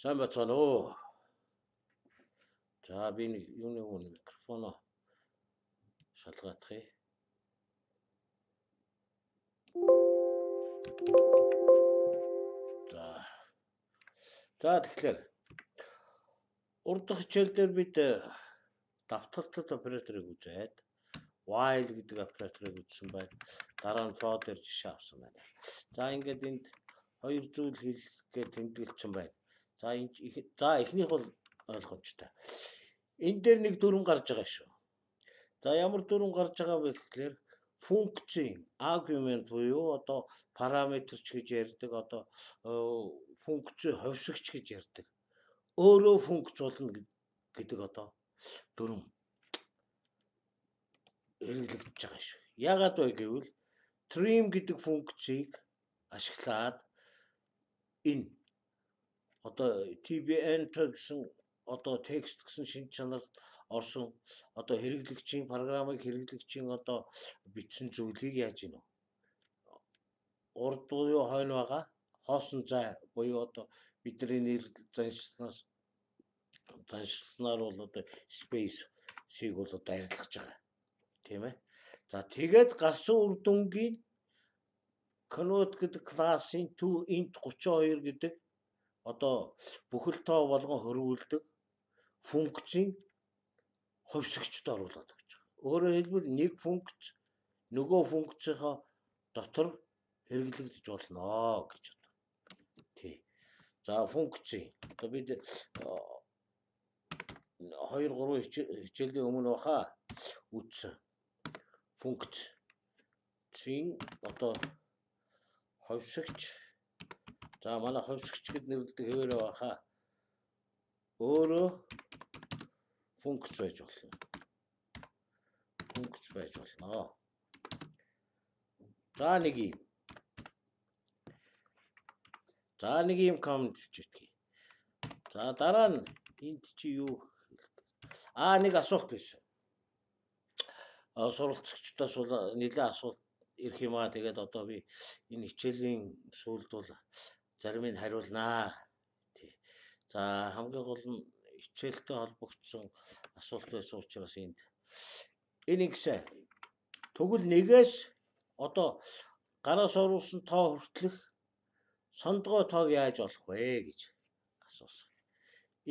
Сайн бацгаана уу. За би нэг юуны микрофоно шалгаадах. За тэгэхээр урд дахь хичээл дээр бид давталтад операторыг үзээд while гэдэг операторыг үзсэн байна. Дараа нь for дээр жишээ авсан байна. За ингээд энд хоёр зүйл хэлэх гэж тэмдэглэсэн байна. За эхнийх бол ойлгомжтой. Энэ дээр нэг дүрм гарч байгаа шүү. За ямар дүрм гарч байгаа вэ гэхээр функцийн аргумент буюу одоо параметрч гэж ярьдаг, одоо функц ховшигч гэж ярьдаг. Өөрөө функц болно гэдэг одоо дүрм хэрэглэгдэж байгаа шүү. Яагаад вэ гэвэл trim гэдэг функцийг ашиглаад энэ одоо tbn гэсэн одоо текст гэсэн шинж чанарт орсон одоо хэрэглэгчийн програмыг хэрэглэгчийн одоо бичсэн зүйлийг яаж ийн вэ? Урд буюу хойно байгаа хоосон зай буюу одоо бидний нэр заншилснаар бол одоо space-ийг бол одоо арилгаж байгаа. Тийм ээ. За тэгээд гарсан үр дүнгийн convert гэдэг классын toInt 32 гэдэг одоо бүхэл тоо болгон хөрвүүлдэг функцийн ховшигчд оруулаад өгч байгаа. Өөрөөр хэлбэл нэг функц нөгөө функцийнхаа дотор хэрэглэгдэж болно гэж одоо. Тий. За функцийн одоо бид 2-3 хичээлийн өмнө баха үтсэн функцийн одоо ховшигч. За манай ховшигч гэд нэрлэдэг хэвээрээ баха. Өөрөө функц байж болно. Функц байж болно. За нэг юм коммент бичээдгий. За дараа нь энд чи юу нэг асуулт байсан. Суралцагчдаас бол нэлээд асуулт ирэх юм аа. Тэгээд одоо би энэ хичээлийн сүүлд бол зарим нь хариулнаа. Тий. За хамгийн гол нь хичээлтэй холбогдсон асуулт байсан учраас энд энэ гэсэн тэгвэл нэгээс одоо гараас оруулсан тоо хүртэлх сондгой тоог яаж олох вэ гэж асуусан.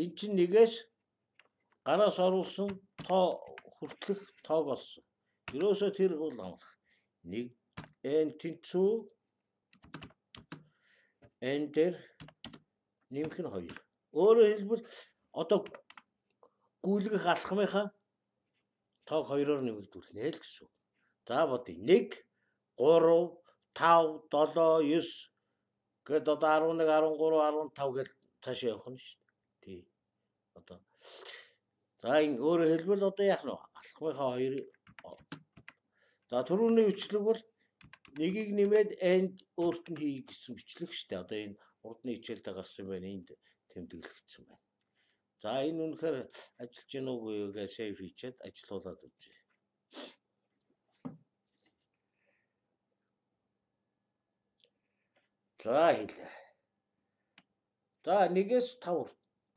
Энд чинь нэгээс гараас оруулсан тоо хүртэлх тоог олсон. Ерөөсөө тэр бол амрах. Нэг n тэнцүү n дээр нэмэх нь 2. Өөрөөр хэлбэл одоо гүйлгэх алхмынхаа тоог 2-оор нэмэгдүүлнэ л гэсэн. За бодъё. 1 3 5 7 9 гээд одоо 11 13 15 гээд цааш явах нь шүү дээ. Тий. Одоо за энэ өөрөөр хэлбэл одоо яах нь алхмынхаа 2 за түрүүний бичлэг бол нэгийг нэмээд end өөрт нь хий гэсэн бичлэг шүү дээ. Одоо энэ урдны хичээлдээ гарсан байна. Энд тэмдэглэгдсэн байна. За энэ үнэхээр ажиллаж гин үгүй юу гэж save хийчихэд ажилуулад үзье. За хэлээ. За 1-ээс 5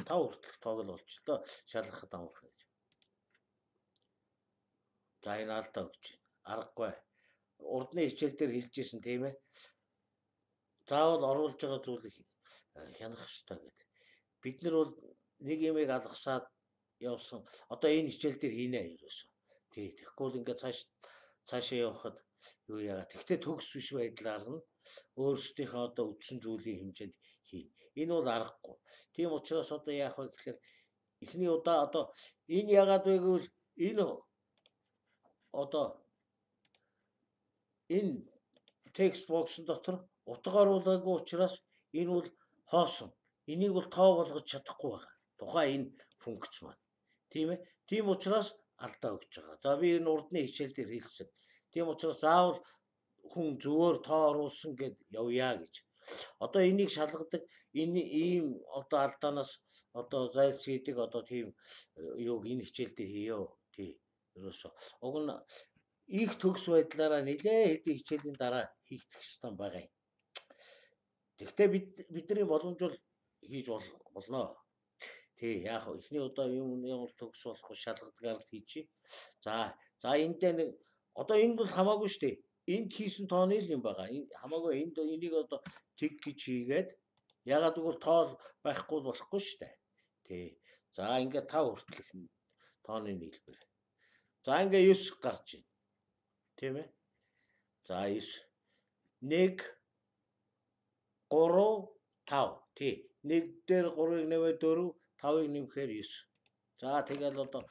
хүртэлх тоог л болж л доо шалгахад амарх гэж. За энэ алдаа өгч байна. Аргагүй. Урдны хичээл дээр хэлжсэн тийм ээ. Заавал оруулж байгаа зүйлийг хянах хэрэгтэй гэдэг. Бид нар бол нэг юмыг алгасаад явсан. Одоо энэ хичээл дээр хийнэ ерөөсөө. Тий, тэгэхгүй л ингээд цаашаа явахад юу яагаад. Тэгтээ төгс биш байдлаар нь өөрсдийнхөө одоо үтсэн зүйлийн хэмжээнд хийн. Энэ бол аргагүй. Тийм учраас одоо яах вэ гэхээр эхний удаа одоо энэ яагаад вэ гэвэл энэ одоо энэ текст боксын дотор утга оруулаагүй учраас энэ бол хоосон. Энийг бол тоо болгож чадахгүй байгаа. Тухайн энэ функц маань. Тийм ээ. Тийм учраас алдаа өгч байгаа. За би энэ урдны хичээл дээр хэлсэн. Тийм учраас заавал хүн зөвөр тоо оруулсан гэд явъя гэж. Одоо энийг шалгадаг энэ ийм одоо алдаанаас одоо зайлшийдэг одоо тийм юуг энэ хичээл дээр хийё. Тий. Ерөөсөө. Уг нь их төгс байдлаараа нэлээ хэдийн хичээлийн дараа хийгдэх ёстой байгаа юм. Тэгвэл бидний боломж бол хийж болно. Тий, яг эхний удаа ямар төгс болох шалгадгаар хийчих. За энд дээр нэг одоо энд бол хамаагүй шүү дээ. Энд хийсэн тооны л юм байгаа. Хамаагүй энийг одоо тэг гэж хийгээд ягаад гэвэл тоол байхгүй болохгүй шүү дээ. Тий. За ингээд 5 хүртэл тооны нийлбэр. За ингээ 9 гарч байна. Тийм ээ. За 9 1 3 5 тий. 1 дээр 3-ыг нэмээд 4, 5-ыг нэмэхээр 9. За тэгэл одоо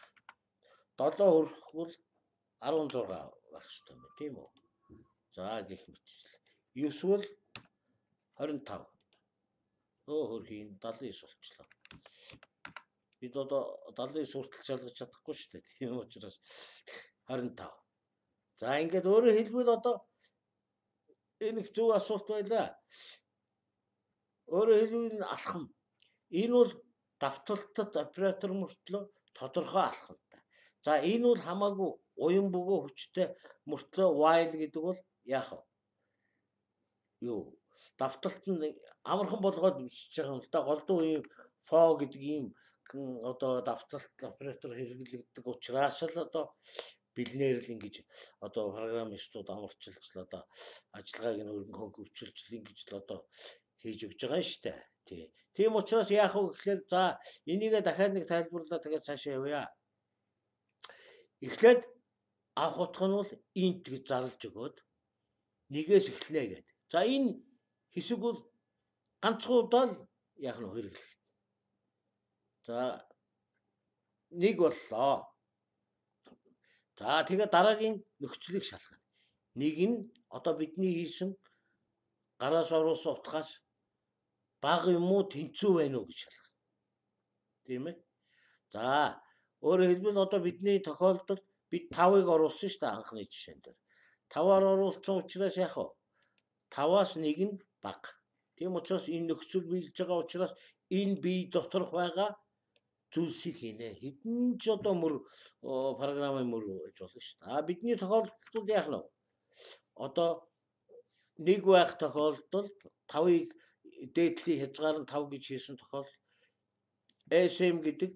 7 хүрэхгүй 16 байх хэрэгтэй юм тийм үү? За гэх мэтчлээ. 9 бол 25. Хөрхийн 79 болчихлоо. Бид одоо 79 хүртэл шалгаж чадахгүй шүү дээ. Тийм учраас 25. За ингээд өөрөөр хэлбэл одоо энэ их зөв асуулт байлаа. Өөрөөр хэлбэл алхам. Энэ бол давталтад оператор мөртлөө тодорхой алхамтай. За энэ бол хамаагүй уян бөгөө хүчтэй мөртлөө while гэдэг бол яах вэ? Юу? Давталтанд амархан болгоод бичиж байгаа юм л да. Голдуу ийм for гэдэг ийм одоо давталт оператор хэрэглэгддэг учраас л одоо бэлнээр л ингэж одоо программистууд амарчилж л одоо ажиллагааг нь хөнгөвчилж л ингэж л одоо хийж өгч байгаа юм шүү дээ. Тий. Тийм учраас яах вэ гэхээр за энийгээ дахиад нэг тайлбарлаа тэгээд цаашаа явъя. Эхлээд авах утга нь бол инт гэж зарлж өгөөд нэгээс эхлэнэ гэдэг. За энэ хэсэг бол ганцхан удаа л яах нь хэрэглэх. За нэг боллоо. За тэгээ дараагийн нөхцөлийг шалгана. Нэг нь одоо бидний хийсэн гараас оруулсан утгаас бага юм уу тэнцүү байна уу гэж шалгана. Тийм ээ. За өөрөөр хэлбэл одоо бидний тохиолдолд бид 5-ыг оруулсан шүү дээ анхны жишээн дээр. 5-аар оруулсан учраас яах вэ? 5-аас 1 нь бага. Тийм учраас энэ нөхцөл биелж байгаа учраас энэ бие доторх байгаа зүйлсийг хийнэ. Хэдэн ч одоо програмын мөр гэж болно шүү дээ. Бидний тохиолдолд яах нь вэ? Одоо 1 байх тохиолдолд 5-ыг дээдлийн хязгаар нь 5 гэж хийсэн тохиолдолд SM гэдэг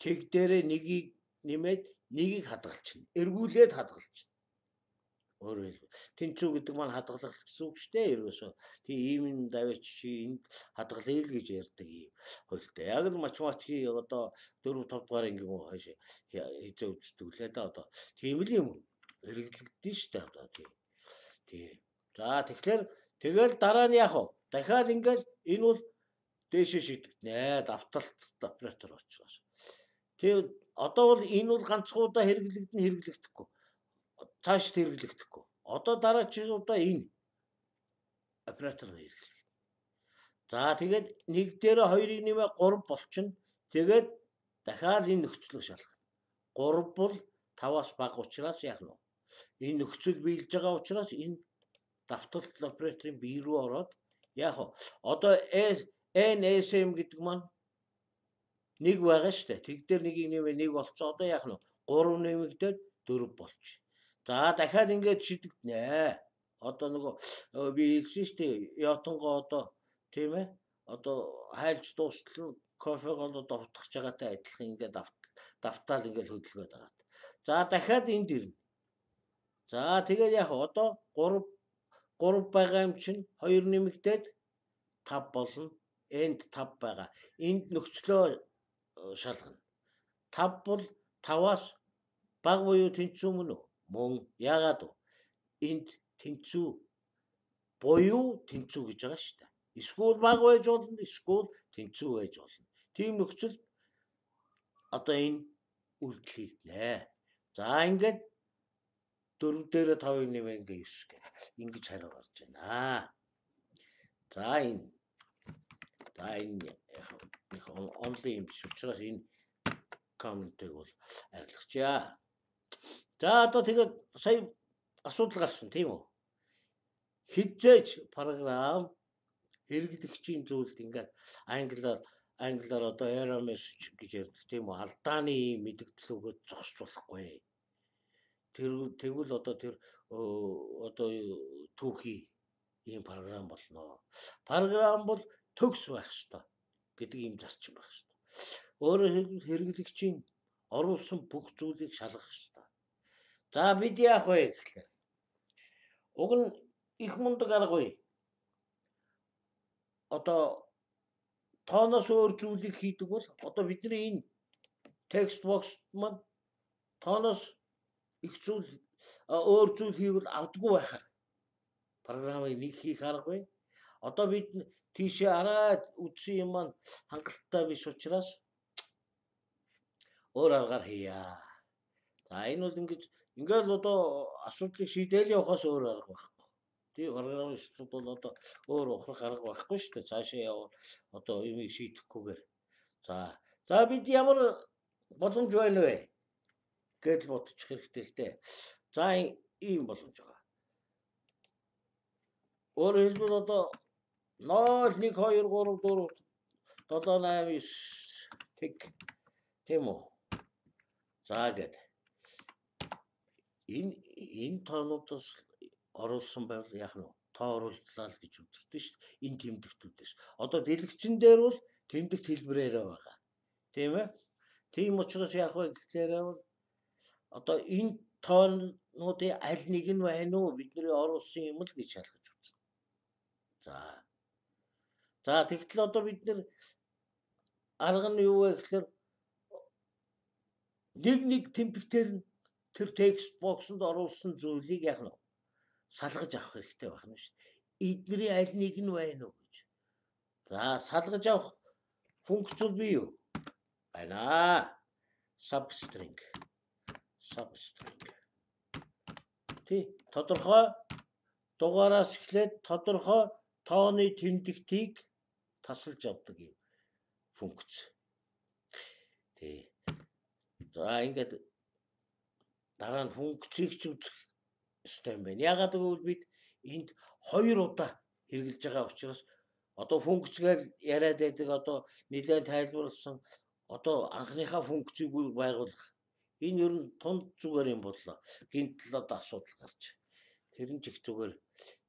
тэг дээрээ 1-ийг нэмээд 1-ийг хадгалчихна. Эргүүлээд хадгалчихна. Өөрөөр хэлбэл тэнцүү гэдэг маань хадгалах гэсэн үг шүү дээ. Ерөөсөө тийм ийм даваач чи энд хадгалъя л гэж ярьдаг юм хөлтэй. Яг л математикийн одоо 4 5 дугаар ингээм үү хаашаа хизээ үздэг лээ да одоо. Тийм л юм хэрэглэгдэн шүү дээ одоо тийм. За тэгэхээр тэгэл дараа нь яах вэ? Дахиад ингээл энэ бол дээшээ шийдэгдэнэ. Давталт оператор учраас. Тэгээ одоо бол энэ бол ганцхан удаа хэрэглэгдэхгүй. Цааш хэрэглэгдэхгүй. Одоо дараагийн удаа энэ оператор хэрэглэгдэнэ. За тэгээд 1 дээр 2-ыг нэмээ 3 болчихно. Тэгээд дахиад энэ нөхцөлөөр шалгах. 3 бол 5-аас бага учраас яах нь вэ? Энэ нөхцөл биелж байгаа учраас энэ давталт операторын бие рүү ороод яах вэ? Одоо NSM гэдэг маань 1 байгаа шүү дээ. Тэг дээр 1-ийг нэмээ 1 болцсон. Одоо яах нь вэ? 3 нэмэгдээд 4 болчих. За дахиад ингэж шийдэгдэнэ. Одоо нөгөө би хэлсэн шүү дээ. Ятонгоо одоо тийм ээ. Одоо хайлж дуустал кофегоо одоо утгах байгаатай адилхан ингээд давтаал ингээд хөдөлгөөд байгаа. За дахиад энд ирнэ. За тэгээд яг одоо 3 байгаа юм чинь 2 нэмэгдээд 5 болно. Энд 5 байгаа. Энд нөхцлөө шалгана. 5 бол 5-аас бага буюу тэнцүү мөн үү? Мөн. Яагаад вэ? Энд тэнцүү буюу тэнцүү гэж байгаа шүү дээ. Эсвэл бага байж болно, эсвэл тэнцүү байж болно. Тийм нөхцөл одоо энэ үйлдэл хийгднэ. За ингээд 4 дээр 5-ыг нэмээ ингээ 9 гэх. Ингэж хариу гарч байна. За энэ их онлайн юм биш учраас энэ комментиг бол арилгачаа. За одоо тэгээд сая асуудал гарсан тийм үү? Хизээж програм хэрэглэгчийн зүйлд ингээд англиар одоо error message гэж ярьдаг тийм үү? Алдааны мэдээлэл өгөөд зогсож болохгүй. Тэгвэл одоо түүхий ийм програм болно. Програм бол төгс байх ёстой. гэдэг ийм зарчим байх шүү дээ. Өөрөөр хэлбэл хэрэглэгчийн оруулсан бүх зүйлийг шалгах шүү дээ. За бид яах вэ гэхлээр уг нь их мундаг аргагүй. Одоо тооноос өөр зүйлийг хийдэг бол одоо бидний энэ текст бокс маань тооноос их зүйл өөр зүйл хийвэл авдаггүй байхаар програмыг нэг хийх аргагүй. Одоо бид тийшээ хараад үтсэн юм маань хангалттай биш учраас өөр аргаар хийя. За энэ бол ингээд л одоо асуудлыг шийдээл явахаас өөр арга байхгүй. Тийм програмистууд бол одоо өөр ухрах арга байхгүй шүү дээ. Цаашаа яваа одоо юмыг шийдэхгүйгээр. За бид ямар боломж байна вэ? Гэдэл бодчих хэрэгтэй л дээ. За ийм боломж байгаа. Өөрөөр хэлбэл одоо 0 1 2 3 4 7 8 9 тэг тийм үү? За гээд энэ тоонуудаас оруулсан байвал яах нь тоо орууллаа л гэж үздэг шүү дээ. Энэ тэмдэгтүүдээс. Одоо дэлгэцэн дээр бол тэмдэгт хэлбэрээр байгаа. Тийм ээ? Тийм учраас яах вэ гэхээр одоо энэ тоонуудын аль нэг нь байна уу бидний оруулсан юм л гэж шалгаж үзсэн. За тэгтэл одоо бид нэр арга нь юу вэ гэхээр нэг тэмдэгтээр нь тэр текст боксонд оруулсан зүйлийг яах нь салгаж авах хэрэгтэй байна шүү дээ. Эдний аль нэг нь байна уу гэж. За салгаж авах функц бол бий юу? Байна. Substring. Тий, тодорхой дугаараас эхлээд тодорхой тооны тэмдэгтийг тасалж авдаг юм функц. Тий. За ингээд дараа нь функцийг ч үзэх ёстой юм байна. Ягаад гэвэл бид энд 2 удаа хэрэгжилж байгаа учраас одоо функц гэж яриад байдаг одоо нэлээд тайлбарлсан одоо анхныхаа функцийг байгуулах. Энэ ер нь тунд зүгээр юм боллоо. Гинтэл одоо асуудал гарч. Тэр нь ч их зүгээр.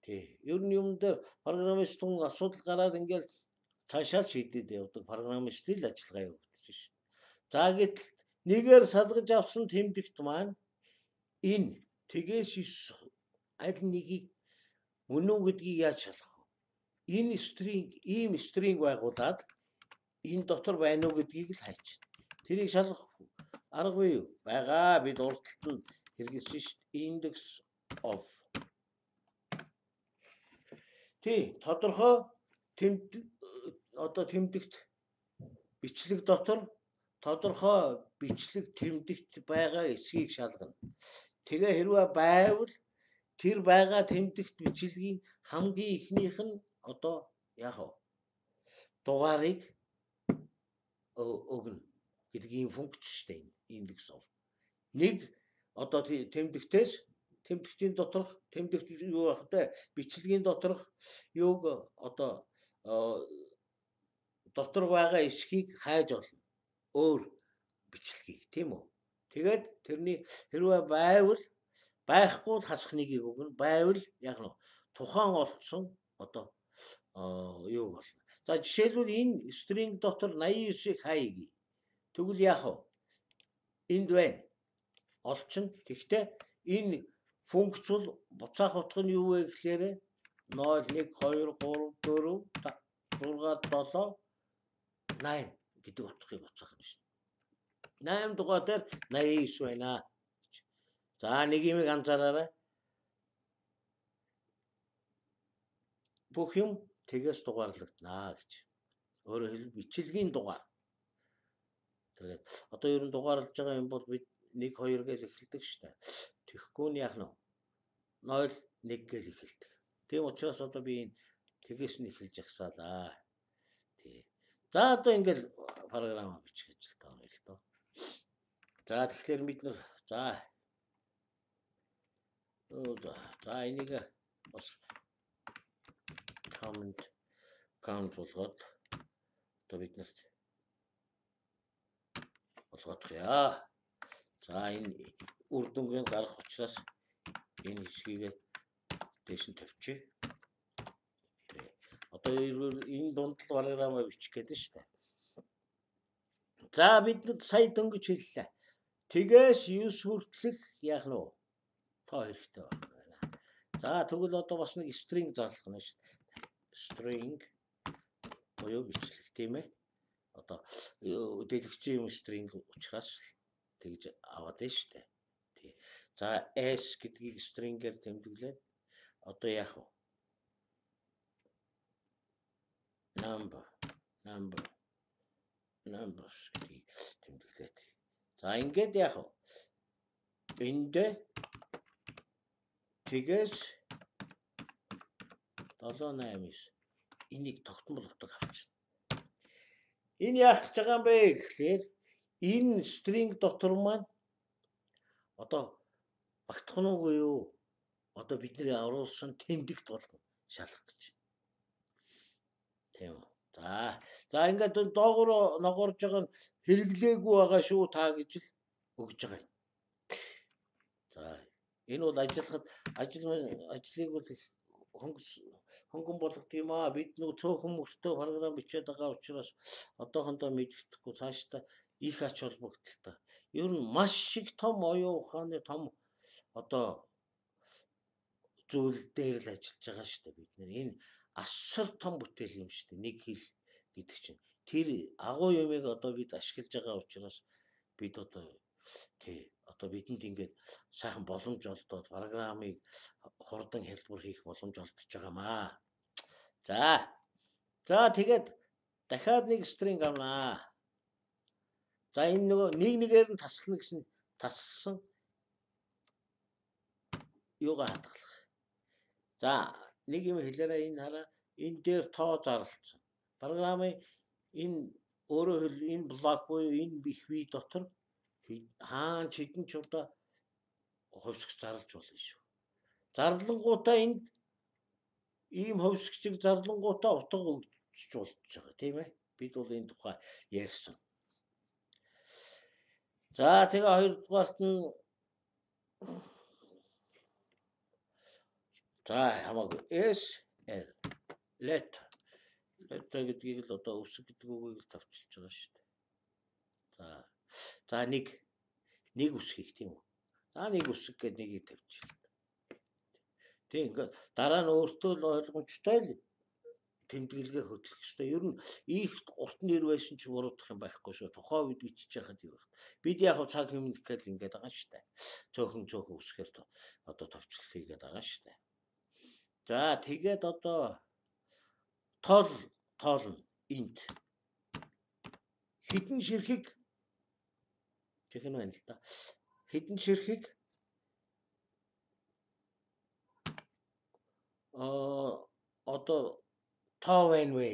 Тий. Ер нь юм дээр программист хүн асуудал гараад ингээл цаашаа шийдээд явдаг программистын л ажиллагаа явагдаж шин. За гэтэл нэгээр салгаж авсан тэмдэгт маань энэ тэгээс аль нэгийг мөн үү гэдгийг яаж шалгах вэ? Энэ ийм стринг байгуулад энэ дотор байна уу гэдгийг л хайч. Тэрийг шалгах аргагүй юу? Байгаа. Бид урдталт нь хэрэгэлсэн шүү дээ. Index of. Тий, тодорхой тэмдэгт бичлэг дотор тодорхой бичлэг тэмдэгт байгаа эсхийг шалгана. Тэгээ хэрвээ байвал тэр байгаа тэмдэгт бичлэгийн хамгийн ихнийх нь одоо яах вэ? Дугаарыг өгнө гэдэг ийм функц шүү дээ. Индекс of. Нэг одоо тэмдэгтийн доторх тэмдэгт юу байх вэ? Бичлэгийн доторх юуг одоо дотор байгаа эсхийг хайж олно. Өөр бичлэгийг тийм үү? Тэгээд тэрний хэрвээ байвал байхгүй хасах нэгийг өгнө. Байвал яг нь тухайн олдсон одоо юу болно. За жишээлбэл энэ string дотор 89-ийг хаяа. Тэгвэл яах вэ? Энд байна. Олчин. Тэгтээ энэ функц бол буцаах утга нь юу вэ гэхээр 0 1 2 3 4 5 6 7 8 гэдэг утгыг буцаах нь шүү. 8 дугаар дээр 89 байна. За нэг юм анзаараарай. Бүх юм тэгээс дугаарлагдана гэж. Өөрөөр хэлбэл бичлэгийн дугаар. Тэгээд одоо ер нь дугаарлаж байгаа юм бол бид 1 2 гэж эхэлдэг шүү дээ. Тэгэхгүй нь яах нь 0 1 гэж эхэлдэг. Тийм учраас одоо би энэ тэгээс нь эхэлж агсаалаа. Тий. За одоо ингээл програм бичих ажилтаа байна л доо. За тэгэхээр бид нар за энийг бас count болгоод одоо бид нарт болгох яа. За энэ үр дүнгийн гарах учраас энэ хэсгийг дэш нь тавьчих. Одоо энэ дунд л програмаа бичих гэдэг шүү дээ. За бид сая дөнгөж хэллээ. Тэгээс 9 хүртэлх яах нь вэ? Тоо хэрэгтэй байна. За тэгвэл одоо бас нэг string зарлах нь шүү дээ. String буюу бичлэг тийм ээ. Одоо дэлгэцийн юм string учраас тэгж аваад байна шүү дээ. Тий. За s гэдгийг string-ээр тэмдэглээд одоо яах вэ? Numbers гэдгийг тэмдэглээд. За ингээд яах вэ? Энд тэгээс 789 энийг тогтмол утга авчихна. Энэ яах гэж байгаа юм бэ гэхлээр энэ string дотор маань одоо багтах нь уу юу? Одоо бидний оруулсан тэмдэгт болгон шалгах гэж. Тийм үү. За ингээд доогуур ногоорж байгаа нь хэрэглээгүй байгаа шүү та гэж л өгж байгаа юм. За энэ бол ажлыг бол хөнгөн болгох юм аа. Бид нэг цөөхөн мөртөө програм бичээд байгаа учраас одоохондоо мэддэхгүй цаашдаа их ач холбогдолтой. Ер нь маш их том оюун ухааны том одоо зүйл дээр л ажиллаж байгаа шүү дээ бид нэр. Энэ асар том бүтээл юм шүү дээ. Нэг хэл гэдэг чинь. Тэр агуу юмыг одоо бид ашиглаж байгаа учраас бид одоо одоо бидэнд ингээд сайхан боломж олдоод програмыг хурдан хэлбэр хийх боломж олдож байгаамаа. За тэгээд дахиад нэг string авнаа. За энэ нөгөө нэгээр нь таслана гэсэн тассан юугаа хадгалах. За нэг юм хэлээрээ энэ хараа энэ дээр тоо зарлцсан. Програмын энэ өөрөөр хэл энэ блок буюу энэ их бие дотор хаан хэдэн ч удаа хувьсгч зарлж болно шүү. Зарлангуудаа энд ийм хувьсгчийг зарлангуудаа утга өгч болж байгаа тийм ээ. Бид бол энэ тухай ярьсан. За тэгээ хоёрдугаарт нь за хамаагүй SL letter гэдгийг л одоо өсөг гэдэг үгийг л тавьчихж байгаа шүү дээ. За нэг үсгийг тийм үү. За нэг үсэг гэдэг нэгийг тавьчихлаа. Тэг ингээд дараа нь өөртөө л ойлгомжтой л тэмдэглэгээ хөтлөх хэрэгтэй. Ер нь их урт нэр байсан ч буруудах юм байхгүй шүү. Тухайн үед бичиж яхад юу вэ? Бид яг цаг хэмнэхээр ингээд байгаа шүү дээ. Цөөхөн үсгээр одоо товчлол хийгээд байгаа шүү дээ. За тэгээд одоо тоолно энд хідэн ширхэг чихэн байна л да. Хідэн ширхэг одоо тоо байна вэ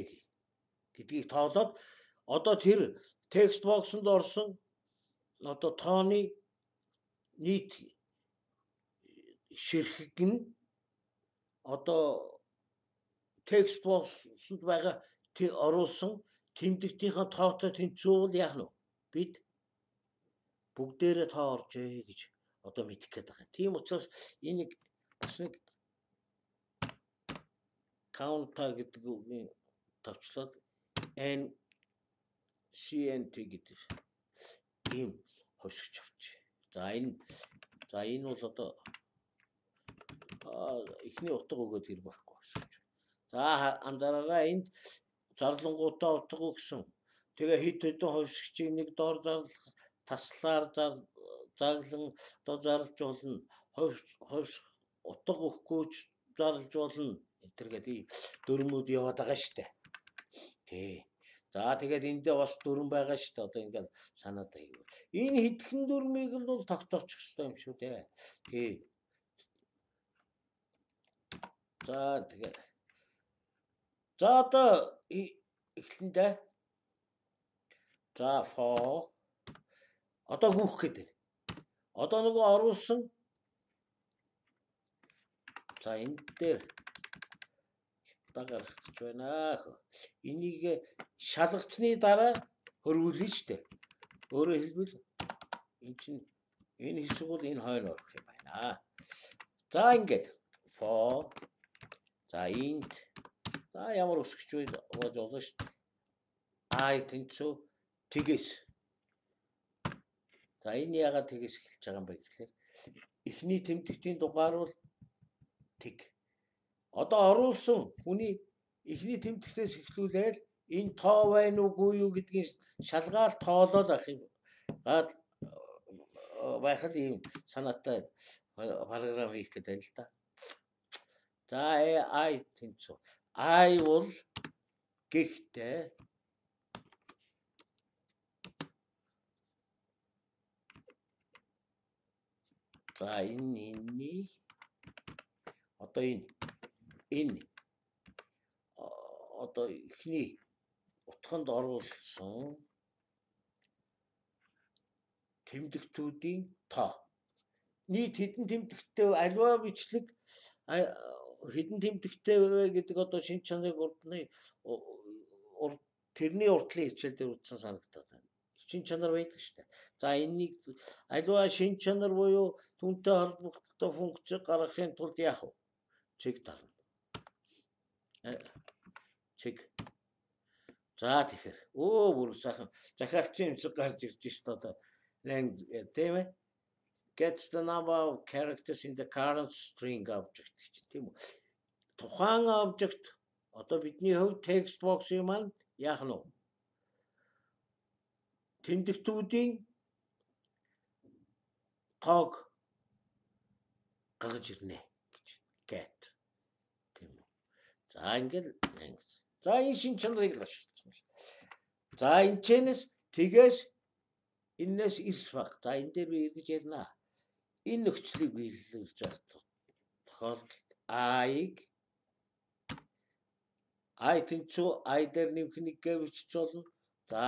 гэдгийг тоолоод одоо тэр текст боксонд орсон одоо тооны нийт ширхэг нь одоо текст боксонд байгаа оруулсан тэмдэгтийнхээ тоотой тэнцвүүл яах нь бид бүгдээрээ тоо оржээ гэж одоо мэдэх гээд байгаа. Тийм учраас энийг бас нэг counter гэдэг үгийн тавчлаад NCNT гэдэг ийм хувьсгч авчи. За энэ бол одоо эхний утга өгөөд хэр байхгүй хувьсгч. За анзаараарай энд зарлангуудаа утга өгсөн. Тэгээ хэд хэдэн хувьсгчийг нэг доор зарлах таслаар заглан одоо зарлж болно. Хувьс утга өгөхгүй зарлж болно. Энтергээд дөрмүүд яваад байгаа штэ. Тий. За тэгээд эндээ бас дөрм байгаа штэ. Одоо ингээд санаад байгаа. Энэ хэдхэн дөрмийг л бол тогтоочих хэрэгтэй юм шүү дээ. Тий. За тэгээд за одоо эхлэндээ за for одоо гүөх гэдэг. Одоо нөгөө оруулсан за энэ дээр гарах гэж байна. Энийг шалгацсны дараа хөрвүүлнэ штэ. Өөрөөр хэлбэл энэ хэсэг бол энэ хойно орох юм байна. За ингээд for за int за ямар үсгэж байж болно штэ. Тэнцүү тэгээс За энэ яагаад тэгээс эхэлж байгаа юм бэ гэхлээр эхний тэмдэгтийн дугаар бол тэг. Одоо оруулсан хүний эхний тэмдэгтээс эхлүүлээд энэ тоо байна уугүй юу гэдгийг шалгаал тоолоод авах юм. Байхад ийм санаатай параграф хийх гэдэг л да. За I тэнцүү. I бол гэхдээ за энэ одоо энэ одоо ихний утганд оруулсан тэмдэгтүүдийн тоо. Нийт хэдэн тэмдэгттэй аливаа бичлэг хэдэн тэмдэгттэй вэ гэдэг одоо шинж чанарыг тэрний уртлын хичээл дээр үзсэн санагдаад байна. Шинж чанар байдаг шүү дээ. За энэнийг аливаа шинж чанар буюу түүнтэй холбогдсон функц гаргахын тулд яах вэ? Цэг дарна. Цэг. За тэгэхээр бүр сайхан захиалцсан юмсыг гарч ирж шүү дээ. Тийм ээ. Gets the number of characters in the current string object тийм үү. Тухайн object одоо бидний хувьд text box-ийн маань яах нь вэ? Тэмдэгтүүдийн тоог гаргаж ирнэ гэж get тийм үү. За ингээд за энэ шин чанарыг л ашигласан. За энэ чэнэс тэгээс энэс ирс баг. За энэ дээр би эргэж ярина. Энэ нөхцөлийг биелүүлж байгаа тохиолдолд I тэнцүү I дээр нэмэх гэвч болно. За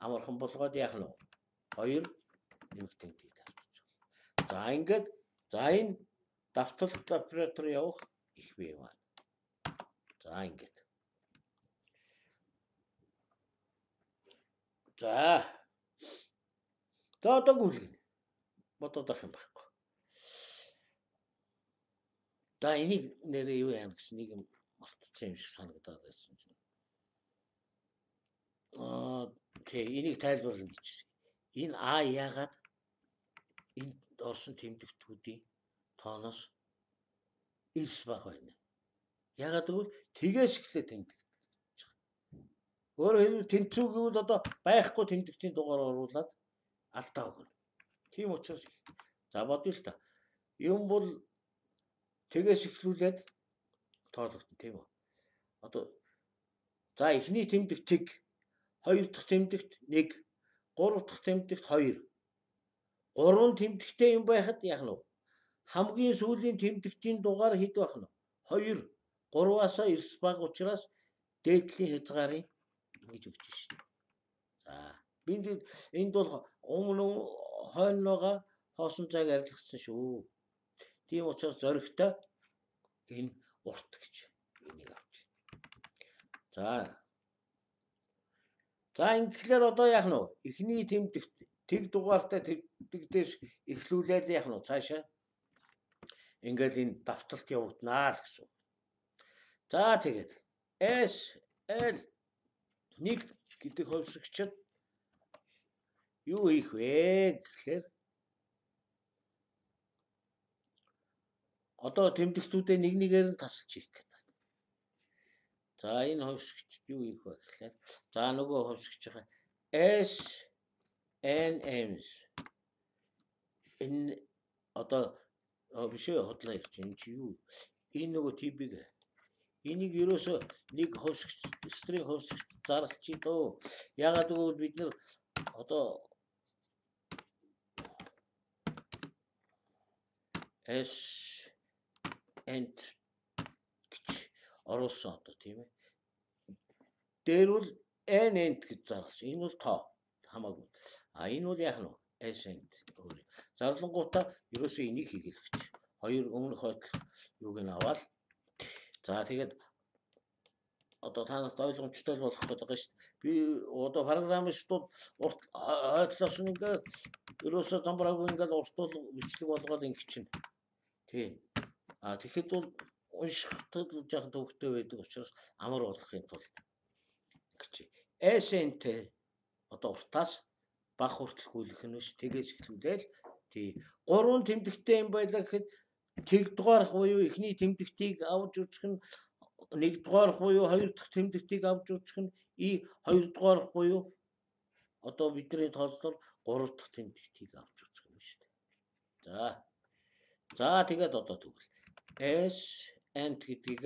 амархан болгоод яах нь вэ? 2 нэмэх тэмдгийг тавьж байна. За ингээд за энэ давталт оператор явах их бий маань. За ингээд. За одоо гүйлгэнэ. Бодох юм байхгүй. За энийг нэрээ юу яах гэсэн нэг юм мартчихсан юм шиг санагдаад байсан чинь. Тэг энийг тайлбарлана гэж. Энэ яагаад энэ орсон тэмдэгтүүдийн тооноос ирс баг байна. Яагаад гэвэл тэгээс эхлээ тэмдэгт. Өөрөөр хэлбэл тэнцүү гэвэл одоо байхгүй тэмдэгтийн дугаар оруулаад алдаа өгнө. Тийм учраас за бодъё л та. Юм бол тэгээс эхлүүлээд тоологдно тийм үү. Одоо за эхний тэмдэгт тэг, хоёр дахь тэмдэгт 1, гурав дахь тэмдэгт 2. Гурван тэмдэгттэй юм байхад яах нь вэ? Хамгийн сүүлийн тэмдэгтийн дугаар хэд байх нь вэ? 2. 3-аас эрс баг учраас дээдлийн хязгаарыг ингэж өгч шин. За энд бол өмнө хойноогоо хоосон цаг арилгасан шүү. Тийм учраас зоригтой энэ урт гэж энийг авч. За ингэхлээр одоо яах нь вэ? Эхний тэмдэгт тэг дугаартай тэмдэгтээс эхлүүлээд яах нь вэ? Цаашаа ингээд энэ давталт явагдана л гэсэн. За тэгээд SL 1 гэдэг хувьсгчид юу хийх вэ гэхлээр одоо тэмдэгтүүдээ нэгээр нь тасалж хийх гэдэг. За энэ хувьсгчд юу хийх вэ гэхлээр за нөгөө хувьсгчийн SNMs энэ одоо биш ээ хотлоо ирж энэ чи юу энэ нөгөө TB-г энийг ерөөсөө нэг хувьсгч стринг хувьсгч зарлчих дөө. Ягаад гэвэл бид нар одоо end гэж оруулсан одоо тийм ээ. Дээр бол end гэж зарласан. Энэ бол тоо хамаагүй. Энэ бол яах нь вэ? End өөр. Зарлангуудаа ерөөсөө энийг хийгээлгэж. Хоёр өмнөх хойдол юуг нь аваад за тэгээд одоо танаас ойлгомжтой болох гэдэг байгаа шүү дээ. Би одоо программистууд урт хойдлоос ингээд ерөөсөө замбраагүй ингээд уртуул бичлэг болгоод ингэ чинь. Тийм. Тэгэхэд бол уншихад жоохон төвөгтэй байдаг учраас амар болгохын тулд гэж. SNT одоо уртаас баг хүртэл гүйлэх нь биш. Тэгээс эхлүүлээл тий 3 тэмдэгтэй юм байлаа гэхэд тэг дугаарах буюу эхний тэмдэгтийг авч үзэх нь 1 дугаарах буюу 2 дахь тэмдэгтийг авч үзэх нь и 2 дугаарах буюу одоо бидний тооллоор 3 дахь тэмдэгтийг авч үзэх юм шүү дээ. За тэгээд одоо тэгвэл S and гэдгийг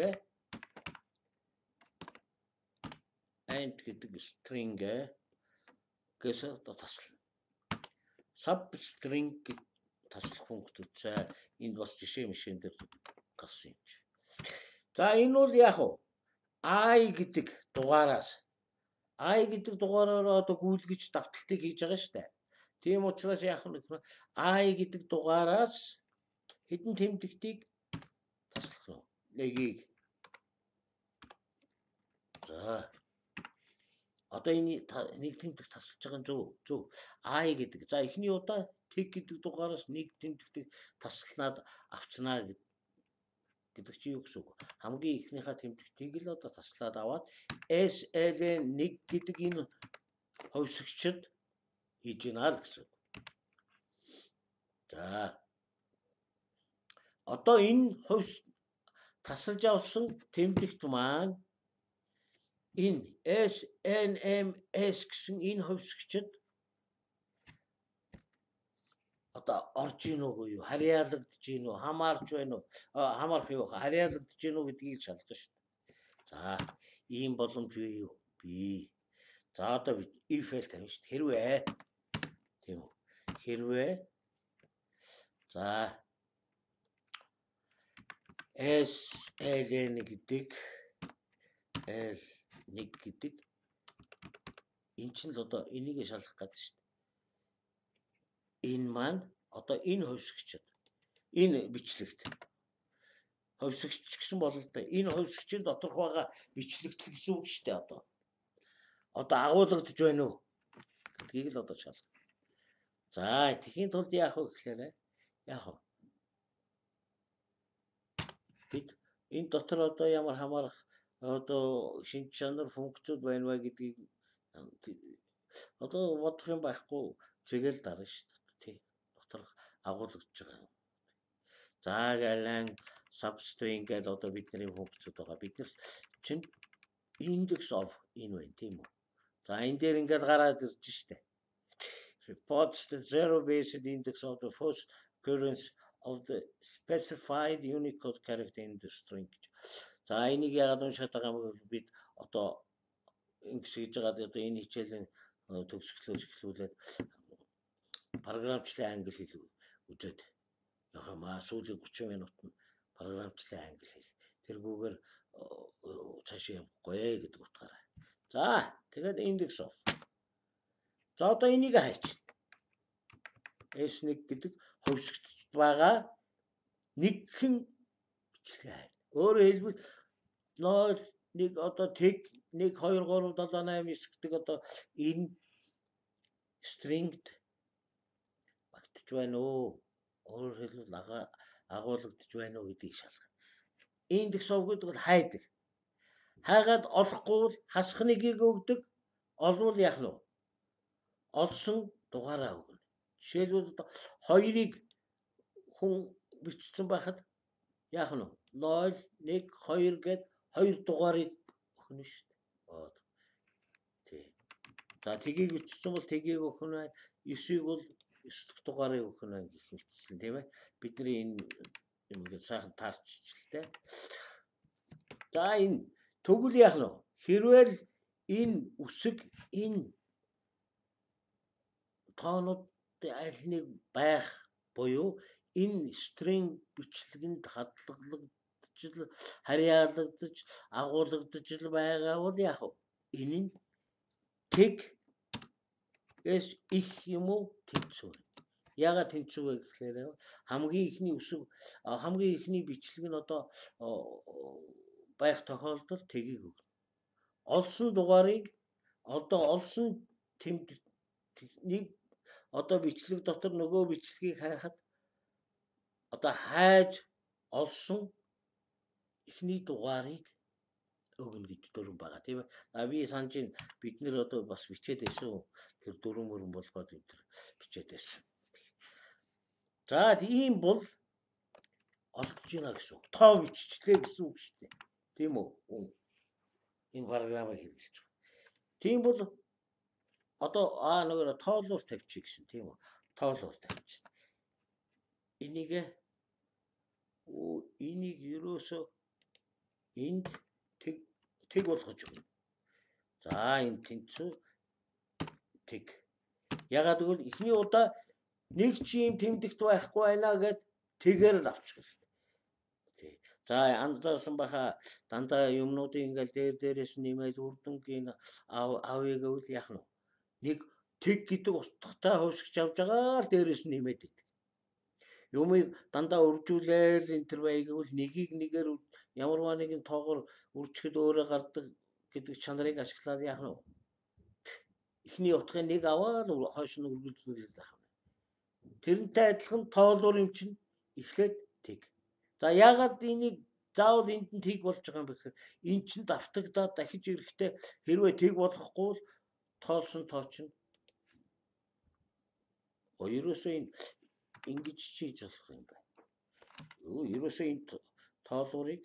and гэдэг string гэс одоо таслана. Substring таслах функцтэй. Энд бас жишээ мишэн дээр гарсан юм чи. За энэ бол яг уу I гэдэг дугаараас одоо гүйлгэж давталтыг хийж байгаа шүү дээ. Тийм учраас яг нь I гэдэг дугаараас хэдэн тэмдэгтийг таслах нь нэгийг. За одоо энэ нэг тэмдэг тасалж байгаа нь зөв. I гэдэг. За эхний удаа тэг гэдэг дугаараас нэг тэмдэгтийг таслаад авчнаа гэдэг чи юу гэсэн үг? Хамгийн ихнийхээ тэмдэгтийг л одоо таслаад аваад SL1 гэдэг энэ ховсгчд хийж гинэ л гэсэн үг. За одоо энэ тасалж авсан тэмдэгт маань энэ SNMS гэсэн энэ ховсгчд одоо орж ийн үгүй юу? Харьяалагдж ийн үү? Хамаарч байна уу? Хамаарх юу? Харьяалагдж ийн үү гэдгийг шалгах шүү дээ. За ийм боломж бий юу? Бий. За одоо бид if л тавина шүү дээ. Хэрвээ тийм үү? Хэрвээ за SL1 гэдэг L1 гэдэг эн чинь л одоо энийг шалгах гэдэг шүү дээ. Энэ маань одоо энэ ховсгчд энэ бичлэгт ховсгч гэсэн бол л да энэ ховсгчийн доторх байгаа бичлэгт гэсэн үг шүү дээ одоо агуулгадж байна уу гэдгийг л одоо шалгах. За тэхийн тулд яах вэ гэхээр бид энэ дотор одоо ямар хамаарах одоо шинж чанар функцүүд байна вэ гэдгийг одоо бодох юм байхгүй тэгэл дарна шүү дээ. Тий. Дотор агуулгадж байгаа. За галан substring гэдэг одоо бидний функцүүд байгаа. Бид нар чинь index of энэ байна тийм үү? За энэ дээр ингээд гараад ирж штэ. Reports the zero based index of the first occurrence of the specified Unicode character in the string. За энийг яагаад уншаад байгаа юм бол бид одоо ингэж байгаа одоо энэ хичээлийн төгсгөлөөс эхлүүлээд програмчлалын англи хэл үзээд яхаа сүүлийн 30 минутанд програмчлалын англи хэл тэргүүгээр цаашаа явахгүй гэдэг утгаараа. За тэгээд index of. За одоо энийг хайч. S1 гэдэг хөвсгч байгаа нэгхэн бичлэг хай. Өөрөөр хэлбэл 0 1 одоо тэг 1 2 3 7 8 9 гэдэг одоо энэ stringт багтж байна уу? Өөрөөр хэлбэл агуулгадж байна уу гэдгийг шалгах. Index of гэдэг бол хайдаг. Хайгаад олохгүй бол хасах нэгийг өгдөг. Олвол яах нь вэ? Олсон дугаараа өгнө. Жишээлбэл 2-ыг хүн бичсэн байхад яах нь вэ? 0 1 2 гэд 2 дугаарыг өгнө шүү дээ. Тий. За тгийг бичсэн бол тгийг өгнө. 9-ийг бол 9 дугаарыг өгнө гэх мэтчлэн тийм ээ. Бидний энэ ингээд сайхан таарчилтэй. За энэ тэгвэл яах нь вэ? Хэрвээ энэ үсэг энэ тоонуудын аль нэг байх буюу энэ string бичлэгэнд хадгалагдж харьяалагдж агуулгадж байгаа бол яах вэ? Энэ нь тэг эс их юм уу тэнцүү. Яагаад тэнцүү вэ гэхээр хамгийн ихний үсэг хамгийн ихний бичлэг нь одоо байх тохиолдолд тгийг өгнө. Олсон дугаарыг одоо олсон тэмдэгтийг одоо бичлэг дотор нөгөө бичлэгийг хайхад одоо хайж олсон эхний дугаарыг өгнө гэж дүрэн байгаа тийм ээ. Би санаж ин бид нэр одоо бас бичээд байсан. Тэр дүрэн мөрөн болгоод энэ бичээд байсан. За ийм бол олдож байна гэсэн үг. Тоо биччихлээ гэсэн үг шүү дээ. Тийм үү? Энэ програмыг хэрэглэж байгаа. Тийм бол одоо нөгөө тоолоор тавьчих гэсэн тийм үү? Тоолоор тавьчих. Энийг ерөөсөө энд тэг болгож өгнө. За энэ тэнцүү тэг. Ягаад гэвэл эхний удаа нэг ч юм тэмдэгт байхгүй байна гэд тэгээр л авчих хэрэгтэй. За анзаарсан баха дандаа юмнуудыг ингээл дээрээс нэмээд үрдэнгийн авъя гэвэл яах нь нэг тэг гэдэг устгатай хувьсгч авж байгаа л дээрээс нэмээд идэг. Юмыг дандаа үржүүлээл энэ төр бай гэвэл нэгийг нэгээр ямарваа нэгэн тоогоор үржихэд өөрөө гардаг гэдэг чанарыг ашиглаад яах нь эхний утгын нэг аваад хойш нь үргэлжлүүлээд байх юм. Тэрнтэй адилхан тоолоор юм чинь эхлээд тэг. За яагаад энийг заавал энд нь тэг болж байгаа юм бэ гэхээр эн чинь давтагдаад дахиж ирэхдээ хэрвээ тэг болохгүй л тоолсон тоо чинь ерөөсөө энэ ингэж чийж болох юм байна. Ерөөсөө энэ тоолуурыг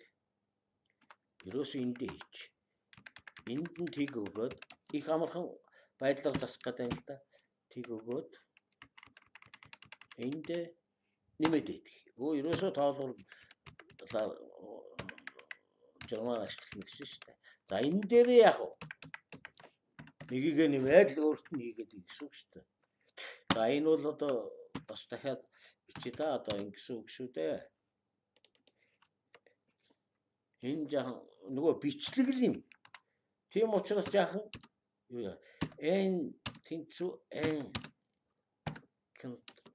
ерөөсөө эндээ хийч. Энд нь тэг өгөөд их амархан байдлаар засах гэдэг юм л да. Тэг өгөөд энд нэмээд идэх. Ерөөсөө тоолуур журмаар ашиглах гэсэн шүү дээ. За энэ дээр яах вэ? Нэгийг нэмээд л өөрт нь хийгээд гэсэн үг шүү дээ. За энэ бол одоо бас дахиад бичээ та одоо ингэсэн үг шүү дээ. Энэ жаахан нөгөө бичлэг л юм. Тийм учраас жаахан юу яа. Энэ тэнцүү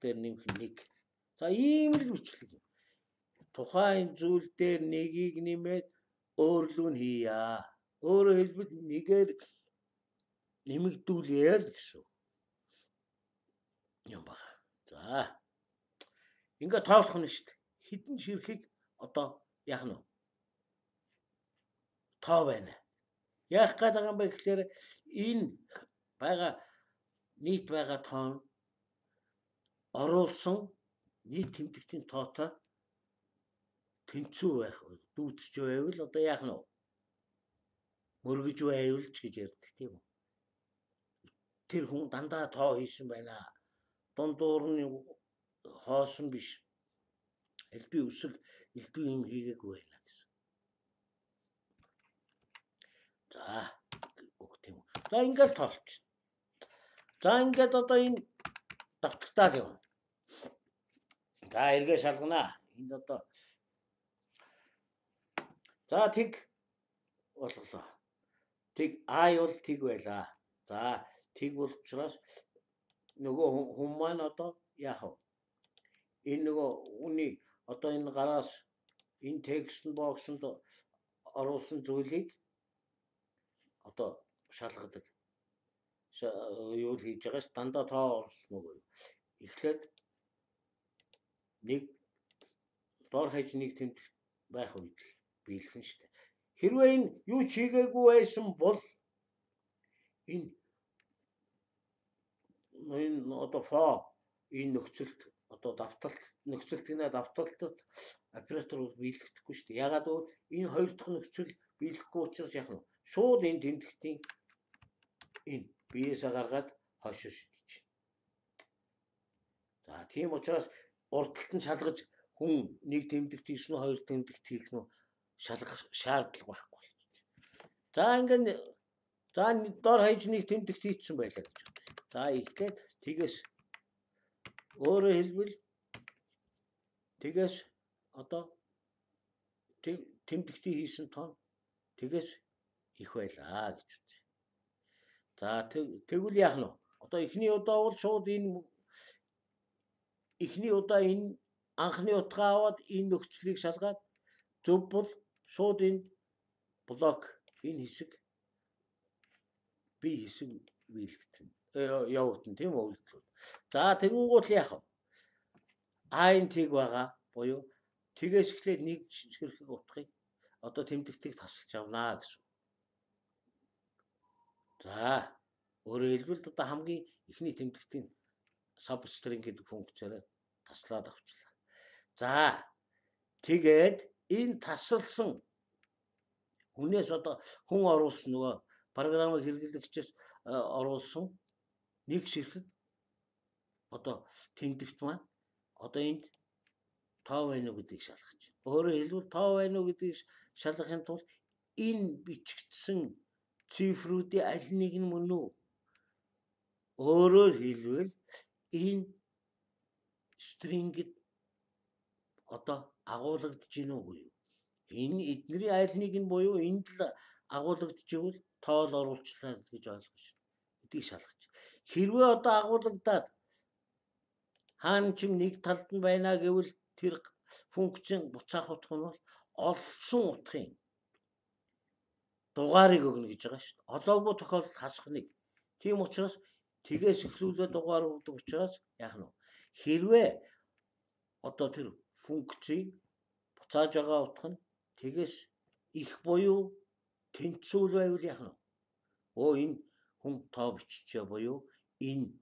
дээр нэмэх нэг. За ийм л бичлэг юм. Тухайн зүйл дээр нэгийг нэмээд өөрлөө нь хийя. Өөрөөр хэлбэл нэгээр нэмэгдүүлээ л гэсэн юм байна. За. Ингээ тоолох нь шүү дээ. Хідэн ширхэг одоо яах нь вэ? Тоо байна. Яах гээд байгаа юм бэ гэхээр энэ байгаа нийт байгаа тоо оруулсан нийт тэмдэгтийн тоотой тэнцүү байх вэ? Дүүцэж байвал одоо яах нь вэ? Мөргөж байвал ч гэж ярьдаг тийм үү? Тэр хүн дандаа тоо хийсэн байна. Дундуур нь хоосон биш. Элбий үсэг элбий юм хийгээгүй байна гэсэн. За тийм үү. За ингээл тоолч. За ингээд одоо энэ давтагтаа л юм. За эргээ шалгана. Энд одоо за тэг болголоо. Тэг бол тэг байлаа. За тэг бол учраас нөгөө хүн маань одоо яах вэ? Энэ нөгөө үний одоо энэ гараас энэ текст боксонд оруулсан зүйлийг одоо шалгадаг. Юу хийж байгаач дандаа тоо орсон уу? Эхлээд нэг дор хаяж нэг тэмдэг байх үед биелэх нь шүү дээ. Хэрвээ энэ юу ч хийгээгүй байсан бол энэ одоо энэ нөхцөлд одоо давталт нөхцөлт гинэ давталтад оператор биелэгдэхгүй шүү дээ. Ягаад гэвэл энэ хоёр дахь нөхцөл биелэхгүй учраас яах нь шууд энэ тэмдэгтийн энэ биеэсээ гаргаад хойшоо шидэж. За тийм учраас урдталт нь шалгаж хүн нэг тэмдэгт хийсэн үү хоёр тэмдэгт хийх нь шалгах шаардлага байхгүй болж байна. За ингээд за дор хаяж нэг тэмдэгт хийсэн байлаа гэж байна. За эхлээд тэгээс өөрөөр хэлбэл тэгээс одоо тэмдэгтийн хийсэн тоо тэгээс их байлаа гэж байна. За тэгвэл яах нь вэ? Одоо эхний удаа бол шууд энэ эхний удаа энэ анхны утгаа аваад энэ нөхцөлийг шалгаад зөв бол шууд энэ блок энэ хэсэг би хэсэг биелэгдэн явагдана тийм үү? За тэгэнгүүт яах вэ? Энэ тэг байгаа буюу тэгээс эхлээд нэг ширхэг утгыг одоо тэмдэгтийг тасалж авнаа гэсэн. За өөрөөр хэлбэл одоо хамгийн ихний тэмдэгтийн substring гэдэг функцаараа таслаад авчлаа. За тэгээд энэ тасалсан хүнээс одоо хүн оруулсан нөгөө програмыг хэрэглэгчээс оруулсан нэг ширхэг одоо тэмдэгт маань одоо энд тоо байна уу гэдгийг шалгаж. Өөрөөр хэлбэл тоо байна уу гэдгийг шалгахын тулд энэ бичигдсэн цифруудын аль нэг нь мөн үү? Өөрөөр хэлбэл энэ стрингд одоо агуулгадж гин үгүй юу? Энэ эднэрийн аль нэг нь буюу энд л агуулгадчихвэл тоол оруулчлаа гэж ойлгож байна. Эдийг шалгаж. Хэрвээ одоо агуулгадаад хаана ч нэг талд нь байна гэвэл тэр функцийн буцаах утга нь бол олсон утгын дугаарыг өгнө гэж байгаа шүү дээ. Олоогүй тохиолдолд хасах нэг. Тийм учраас тгээс эхлүүлээ дугаар өгдөг учраас яах нь вэ? Хэрвээ одоо тэр функцийг буцааж байгаа утга нь тгээс их буюу тэнцвүүл байвал яах нь вэ? Энэ хүн тоо биччихээ буюу энэ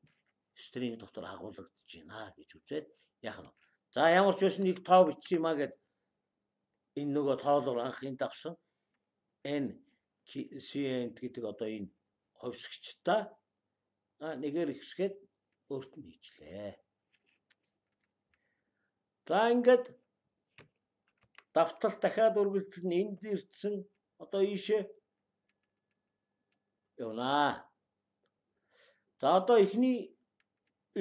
стринг дотор агуулгадж байна гэж үзээд яах нь вэ? За ямар ч байсан нэг тоо бичсэн юм а гэд энэ нөгөө тоолоор анхын давсан n cnt гэдэг одоо энэ ховсгчтай нэгээр ихсгээд өөрт нь хийчлээ. За ингээд давтал дахиад үргэлжлэн энд ирсэн одоо ийшээ явна. За одоо эхний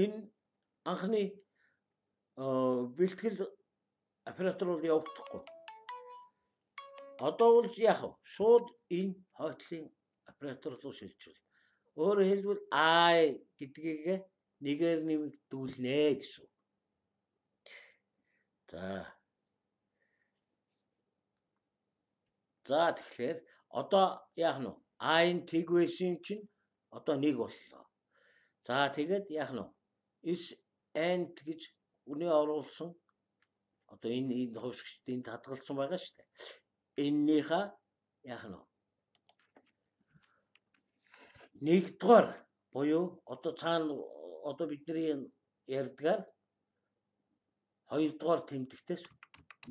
энэ анхны бэлтгэл оператор бол явагдахгүй. Одоо бол яах вэ? Шууд энэ хойтлын оператор руу шилжүүл. Өөрөөр хэлбэл I гэдгийг нэгээр нэмэгдүүлнэ гэсэн. За тэгэхээр одоо яах нь вэ? I-н тэг байсан чинь одоо нэг боллоо. За тэгээд яах нь вэ? Is and гэж үний оруулсан одоо энэ хөвсгчд энд хадгалсан байгаа шүү дээ. Эннийхээ яах нь вэ? Нэгдүгээр буюу одоо цаана одоо бидний ярьдгаар хоёрдугаар тэмдэгтээс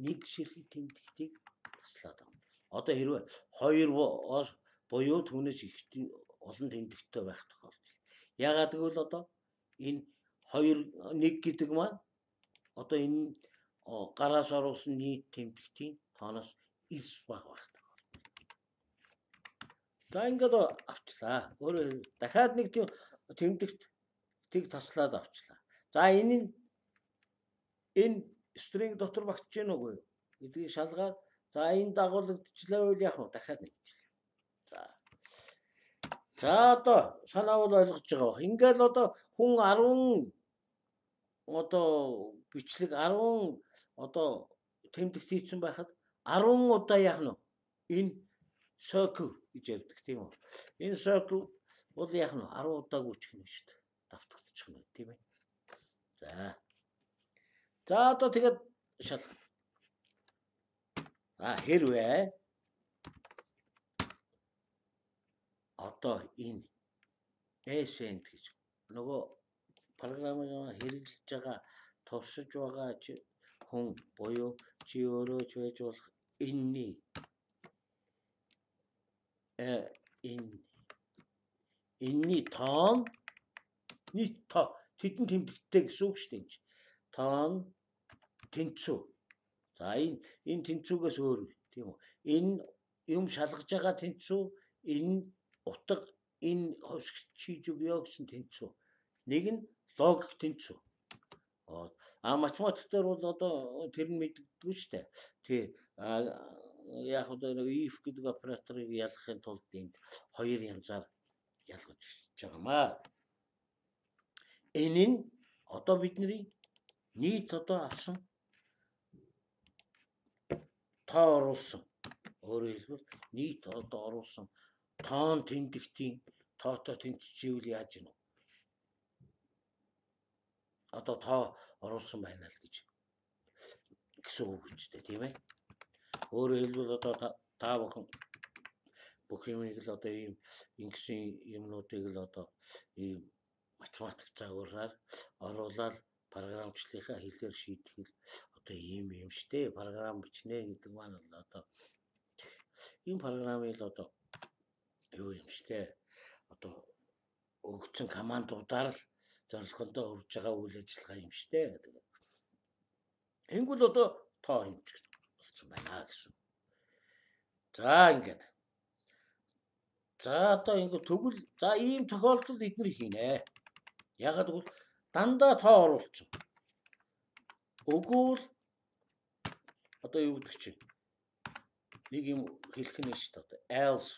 нэг ширхэг тэмдэгтийг таслаад байна. Одоо хэрвээ хоёр буюу түүнээс их олон тэмдэгттэй байх тохиолдол. Яагаад гэвэл одоо энэ 2 1 гэдэг маань одоо энэ гараас оруулсан нийт тэмдэгтийн тооноос 9 баг. За ингээд авчлаа. Өөрөөр дахиад нэг тэмдэгтийг таслаад авчлаа. За энэ стринг дотор багтж гэнэ үгүй гэдгийг шалгаад за энэ дагуулгдчихлаа үйл яах вэ? Дахиад нэгчлээ. За одоо санаа бол ойлгож байгаа ба. Ингээд одоо хүн 10 одоо бичлэг 10 одоо тэмдэгт хийсэн байхад 10 удаа яах нь вэ? Энэ circle гэж ярьдаг тийм үү? Энэ circle бол яах нь вэ? 10 удаа гүйчих нь шүү дээ. Давтагдчих нь тийм ээ. За одоо тэгээд шалгах. Хэрвээ одоо энэ ascent гэж нөгөө програмыг хэрэглэж байгаа туршиж байгаа хүн буюу чи өөрөө ч байж болох энэний энэний тоон нийт тоо тэдэн тэмдэгттэй гэсэн үг шүү дээ. Тоон тэнцүү. За энэ тэнцүүгээс өөр тийм үү? Энэ юм шалгаж байгаа тэнцүү, энэ утга, энэ хөвсгч өгөө гэсэн тэнцүү. Нэг нь логик тэнцүү. Математик дээр бол одоо тэр нь мэддэггүй шүү дээ. Тий. Яг одоо if гэдэг операторыг ялгахын тулд энд хоёр янзаар ялгаж байгаамаа. Энэ нь одоо бидний нийт одоо авсан тоо оруулсан. Өөрөөр хэлбэл нийт одоо оруулсан тоон тэмдэгтийн тоотой тэнцчихвэл яаж гэнэ вэ? Одоо тоо оруулсан байна л гэж гэсэн үг үстэй тийм ээ. Өөрөөр хэлбэл одоо та бүхэн бүх юмыг л одоо ийм ингэсэн юмнуудыг л одоо ийм математик загвараар оруулаад програмчлалынхаа хэлээр шийдэх л одоо ийм юм штэ. Програм бичнэ гэдэг маань л одоо ийм програмыг л одоо юу юм штэ. Одоо өгсөн командуудаар л зорилгондоо хүрж байгаа үйл ажиллагаа юм штэ. Энгүүл одоо тоо хэмжих болсон байна гэсэн. За ингээд. За одоо ингээд тэгвэл за ийм тохиолдолд эдгээр хийнэ. Ягаад гэвэл дандаа тоо оруулсан. Өгвөл одоо юу гэдэг чинь нэг юм хэлэх нь шүү дээ. Else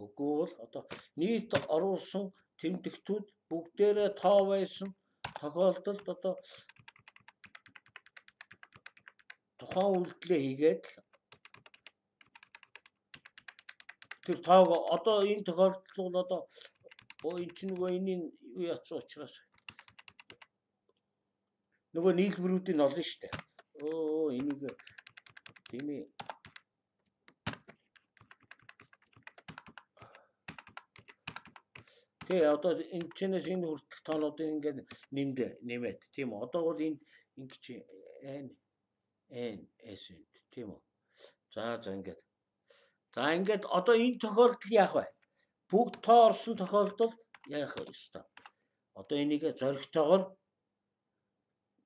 өгвөл одоо нийт оруулсан тэмдэгтүүд бүгдээрээ тоо байсан тохиолдолд одоо тухайн үйлдэлээ хийгээд тэр тоог одоо энэ тохиолдолд бол одоо энэ чинь нөгөө энийн юу яцсан учраас нөгөө нийлбэрүүдийн олно шүү дээ. Энийг тийм ээ. Тэгээ одоо энэ чинээс энэ хүртэх тоонуудыг ингээд нэмээд тийм үү. Одоо бол энэ ингэж n тийм үү. За ингээд. За ингээд одоо энэ тохиолдолд яах вэ? Бүгд тоо орсон тохиолдолд яах вэ ёстой? Одоо энийг зоригтойгоор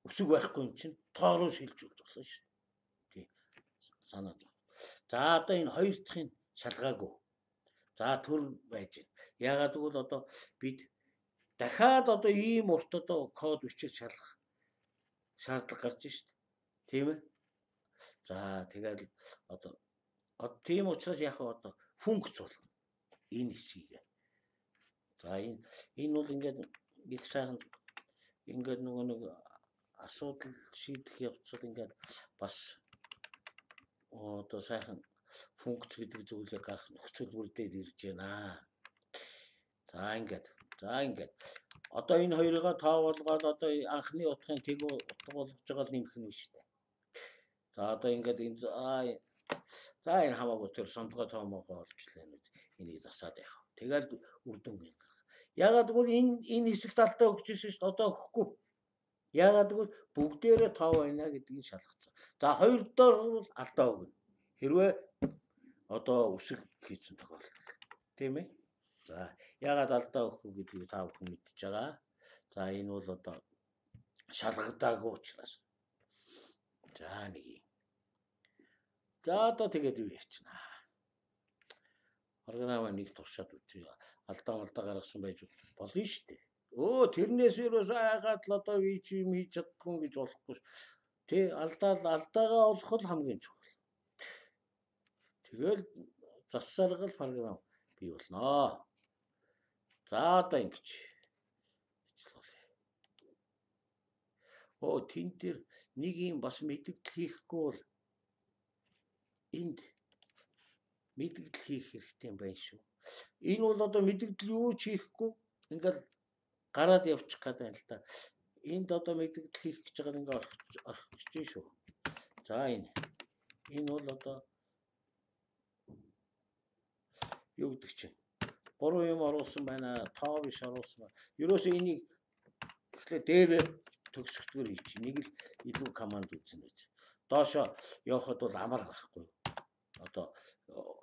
өсөг байхгүй юм чинь тоо руу шилжүүлж болно шүү дээ. Тий. Санаад байна. За одоо энэ хоёр дахын шалгаагүй. За төр байж байна. Ягаад гэвэл одоо бид дахиад одоо ийм урт одоо код бичиж шалгах шаардлага гарч шүү дээ. Тийм ээ. За тэгэл одоо тийм учраас яг одоо функц болгоно. Энэ хэсгийг. За энэ бол ингээд их сайхан ингээд нөгөө нэг асуудал шийдэх явцад ингээд бас одоо сайхан функц гэдэг зүйлийг гарах нөхцөл бүрдээд ирж байна. За ингээд. Одоо энэ хоёроо тоо болгоод одоо анхны утгын тэг утга болгож байгаа нэмэх нь шүү дээ. За одоо ингээд энэ за энэ хамаагүй тэр сондгоо тоомоогоо олжлаа нүд энийг засаад явах. Тэгэл үр дүн гин. Ягаад гэвэл энэ хэсэгт алдаа өгч ирсэн шүү дээ. Одоо өгөхгүй. Ягаад гэвэл бүгдээрээ тоо байна гэдгийг шалгацсан. За хоёр дахь бол алдаа өгнө. Хэрвээ одоо үсэг хийсэн тохиолдолд. Тийм ээ. За ягаад алдаа өгөхгүй гэдгийг та бүхэн мэдчихэж байгаа. За энэ бол одоо шалгагдаагүй учраас. За нэг юм. За одоо тэгээд юу ярьчна. Програм нэг туршаад үгүй. Алдаа гаргасан байж болно шүү дээ. Тэрнээс юус айгаад л одоо би чи юм хийж чаддгүй гэж болохгүй. Тэ алдаагаа олох л хамгийн чухал. Тэгэл засаргал програм бий болно. За одоо ингэж. Тэн дээр нэг юм бас мэддэл хийхгүй бол энд мэддэл хийх хэрэгтэй юм байна шүү. Энэ бол одоо мэддэл юу ч хийхгүй ингээл гараад явчих гэдэг юм л та. Энд одоо мэддэл хийх гэж байгаа ингээ орчих чинь шүү. За энэ бол одоо юу гэдэг чинь буруу юм оруулсан байна. Тоо биш оруулсан байна. Ерөөсөө энийг тэгэхээр дээр төгсгөлтөөр хийчих. Нэг л илүү команд үзэн байж. Доошо явахад бол амар байхгүй. Одоо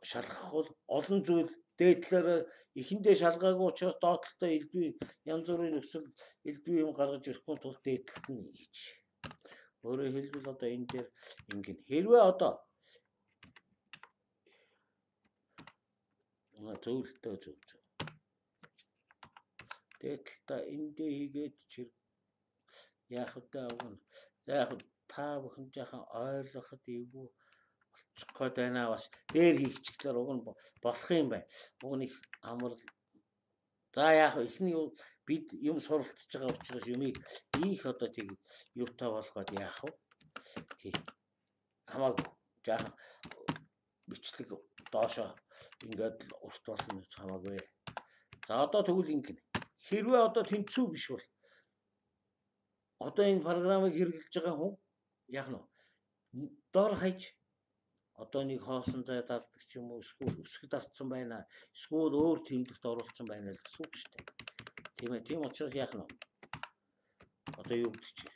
шалгах бол олон зүйл дээдлэр эхэндээ шалгаагүй учраас доотлолтой элдвээ янз бүрийн нөхцөл элдвээ юм гаргаж ирэхгүй тул дээдлэлт нь хийж. Өөрөөр хэлбэл одоо энэ дээр ингэн хэрвээ одоо зөвлөлтөө зөв. Дээдлэлтээ эндээ хийгээд чир яах вэ авна. За яг та бүхэн жаахан ойлгоход эвгүй болчих гээд байна бас. Дээр хийчихлээр уг нь болох юм байна. Уг нь их амар. За яг ихний бид юм суралцж байгаа учраас юмыг их одоо тийг юутай болгоод яах вэ? Тий. Хамаагүй жаахан бичлэг доошоо ингээд урт болно хамаагүй. За одоо тэгвэл ингэн. Хэрвээ одоо тэнцүү биш бол одоо энэ програмыг хэрэглэж байгаа хүн яах нь дор хаяж одоо нэг хоосон зай дарддаг ч юм уу эсвэл өсгөд дардсан байна. Эсвэл өөр тэмдэгт оруулсан байна л гэсэн үг шүү дээ. Тийм ээ. Тийм учраас яах нь вэ? Одоо юу гэдэг чи?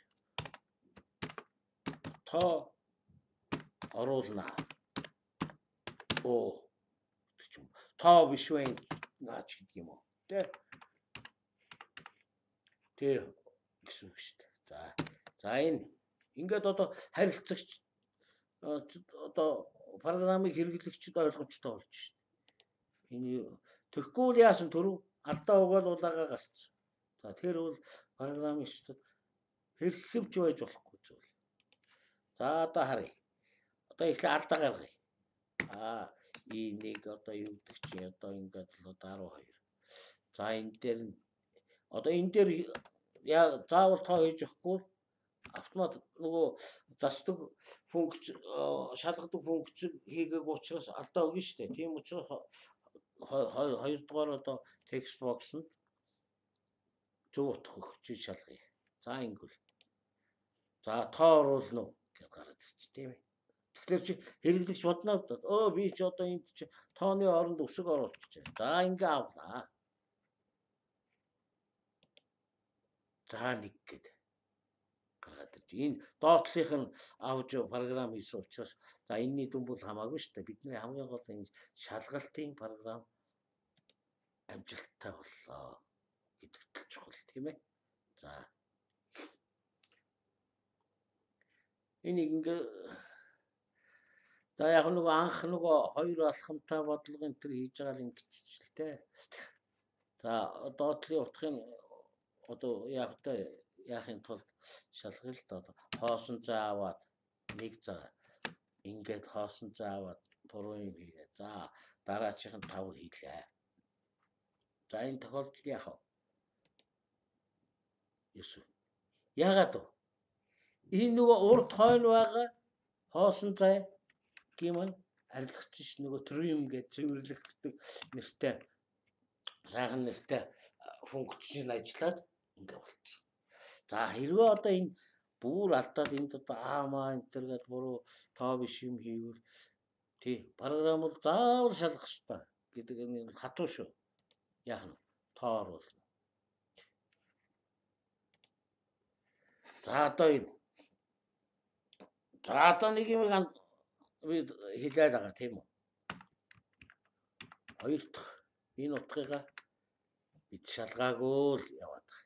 Тоо оруулнаа. Оо. Тоо биш вэ? Наач гэдэг юм уу? Тэ гэсэн үг шүү дээ. За энэ ингээд одоо харилцагч одоо программыг хэрэглэгчд ойлгомжтой болж шүү дээ. Энэ тэгэхгүй бол яасан түрүү алдаа угаал улаагаа гарцсан. За тэр бол программистууд хэрхэвч байж болохгүй зүйл. За одоо харъя. Одоо ихлэ алдаа гаргая. Нэг одоо юу гэдэг чи одоо ингээд л 12. За энэ дээр одоо энэ дээр заавал тоо хийж өгөхгүй автомат нөгөө засдаг функц шалгадаг функц хийгээг учраас алдаа өгнө шүү дээ. Тийм учраас хоёрдугаар одоо текст боксонд зөв утга өгч шалгая. За ингэвэл. За тоо оруулна уу гэж гараад ирчих тийм ээ. Тэгэхээр чи хэрэглэгч бодноо би ч одоо энд чи тооны оронд өсөг оруулчих. За ингээ авлаа. За нэг гээд гаргаад ирж. Энэ доотлих нь авж програм хийсэн учраас за энэний дүн бол хамаагүй шүү дээ. Бидний хамгийн гол энэ шалгалтын програм амжилттай боллоо гэдэгт л чухал тийм ээ. За энийг ингээ за яг нөгөө анх нөгөө хоёр алхамтай бодлого энэ төр хийж байгаа л ингэчихлээ. За доотлын утгын одоо яахын тулд шалгая л доо хоосон зай аваад нэг цаг ингээд хоосон зай аваад буруу юм хийгээ. За дараачихын 5 хийлээ. За энэ тохиолдолд яах вэ? Юусэн. Яагаад вэ? Энэ нөгөө урд хойно байгаа хоосон зай гэмэн арилгачих нөгөө trim гэж цэвэрлэгдэг нэртэй сайхан нэртэй функцийн ажиллаад ингээ болчихсон. За хэрвээ одоо энэ бүр алдаад энд одоо аамаа энэ төр гээд буруу тоо биш юм хийвэл тий програм бол заавал шалгах хэрэгтэй гэдэг энэ хатуу шүү. Яах нь тоо оруулна. За одоо энэ за одоо нэг юм би хэлээд байгаа тийм үү? Хоёр дахь энэ утгыгаа бид шалгаагүй л яваад байгаа.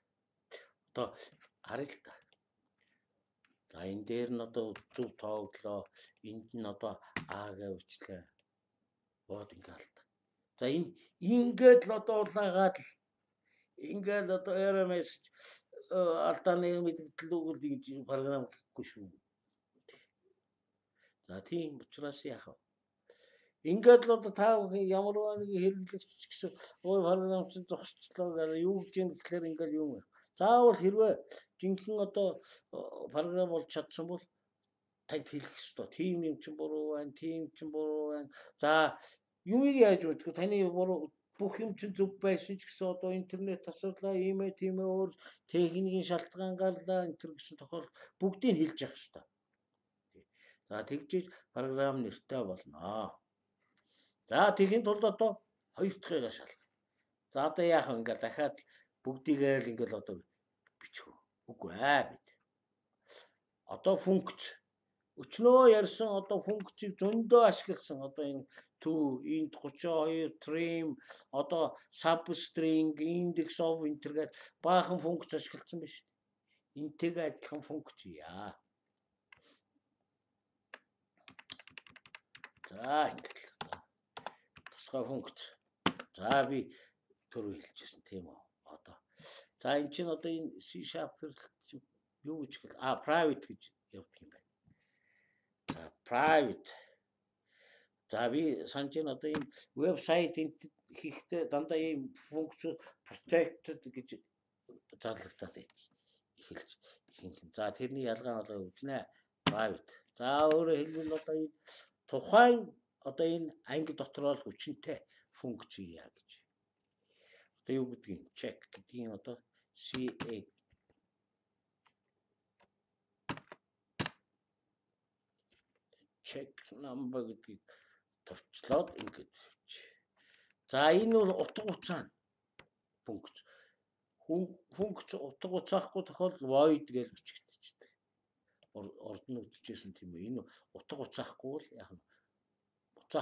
Одоо харъя л та. За энэ дээр нь одоо зөв тооглоо. Энд нь одоо А гэвчлээ. Бод ингээл та. За энэ ингээд л одоо улаагаад л ингээд одоо RMS алдааны мэдээлэл өгөл ингэж програм гэхгүй шүү. За тийм учраас яах вэ? Ингээд л одоо та ямар нэг хэрэглэгч гэсэн ой програм чинь зогсчлоо гэдэг юу гэж юм гэхлээр ингээд юм. Заавал хэрвээ жинхэнэ одоо програм болж чадсан бол танд хэлэх ёстой. Тим юм чинь буруу байна, тим чинь буруу байна. За юмыг яаж мэдэх вэ? Таны буруу бүх юм чинь зөв байсан ч гэсэн одоо интернет асуудлаа ийм ээ тийм ээ өөр техникийн шалтгаан гарлаа энэ төр гэсэн тохиолдолд бүгдийг хэлж явах ёстой. За тэгжиж програм нэртэй болно. За тэгэхин тулд одоо хоёр дахьыгаа шалгах. За одоо яах вэ? Ингээд дахиад бүгдийг л ингээд одоо бичих үү? Үгүй ээ бид. Одоо функц өчнөө ярьсан одоо функцийг зөндөө ашигласан одоо энэ to int 32 trim одоо substring index of интергээд баахан функц ашигласан биш. Энтэйгээ адилхан функц яа. За ингээд л тусгай функц. За би түрүү хэлчихсэн тийм үү. Одоо. За энэ чинь одоо энэ C# юу гэж хэл private гэж явдаг юм байна. За private. За би санаж нь одоо энэ вебсайт хийхдээ дандаа ийм функц protected гэж зарлагдаад байдаг. Эхэлж. За тэрний ялгаа нь одоо үзнэ private. За өөрөөр хэлбэл одоо энэ тухайн одоо энэ анги дотроо л хүчинтэй функц яа гэж. Одоо юу гэдгийг check гэдгийг одоо CA check number гэдгийг товчлоод ингэж. За энэ бол утга учаа функц. Функц утга учаахгүй тохиолдолд void гэж бичигдчихдэг. Орд нь үтчихсэн тийм үү. Энэ утга учаахгүй л яг нь утга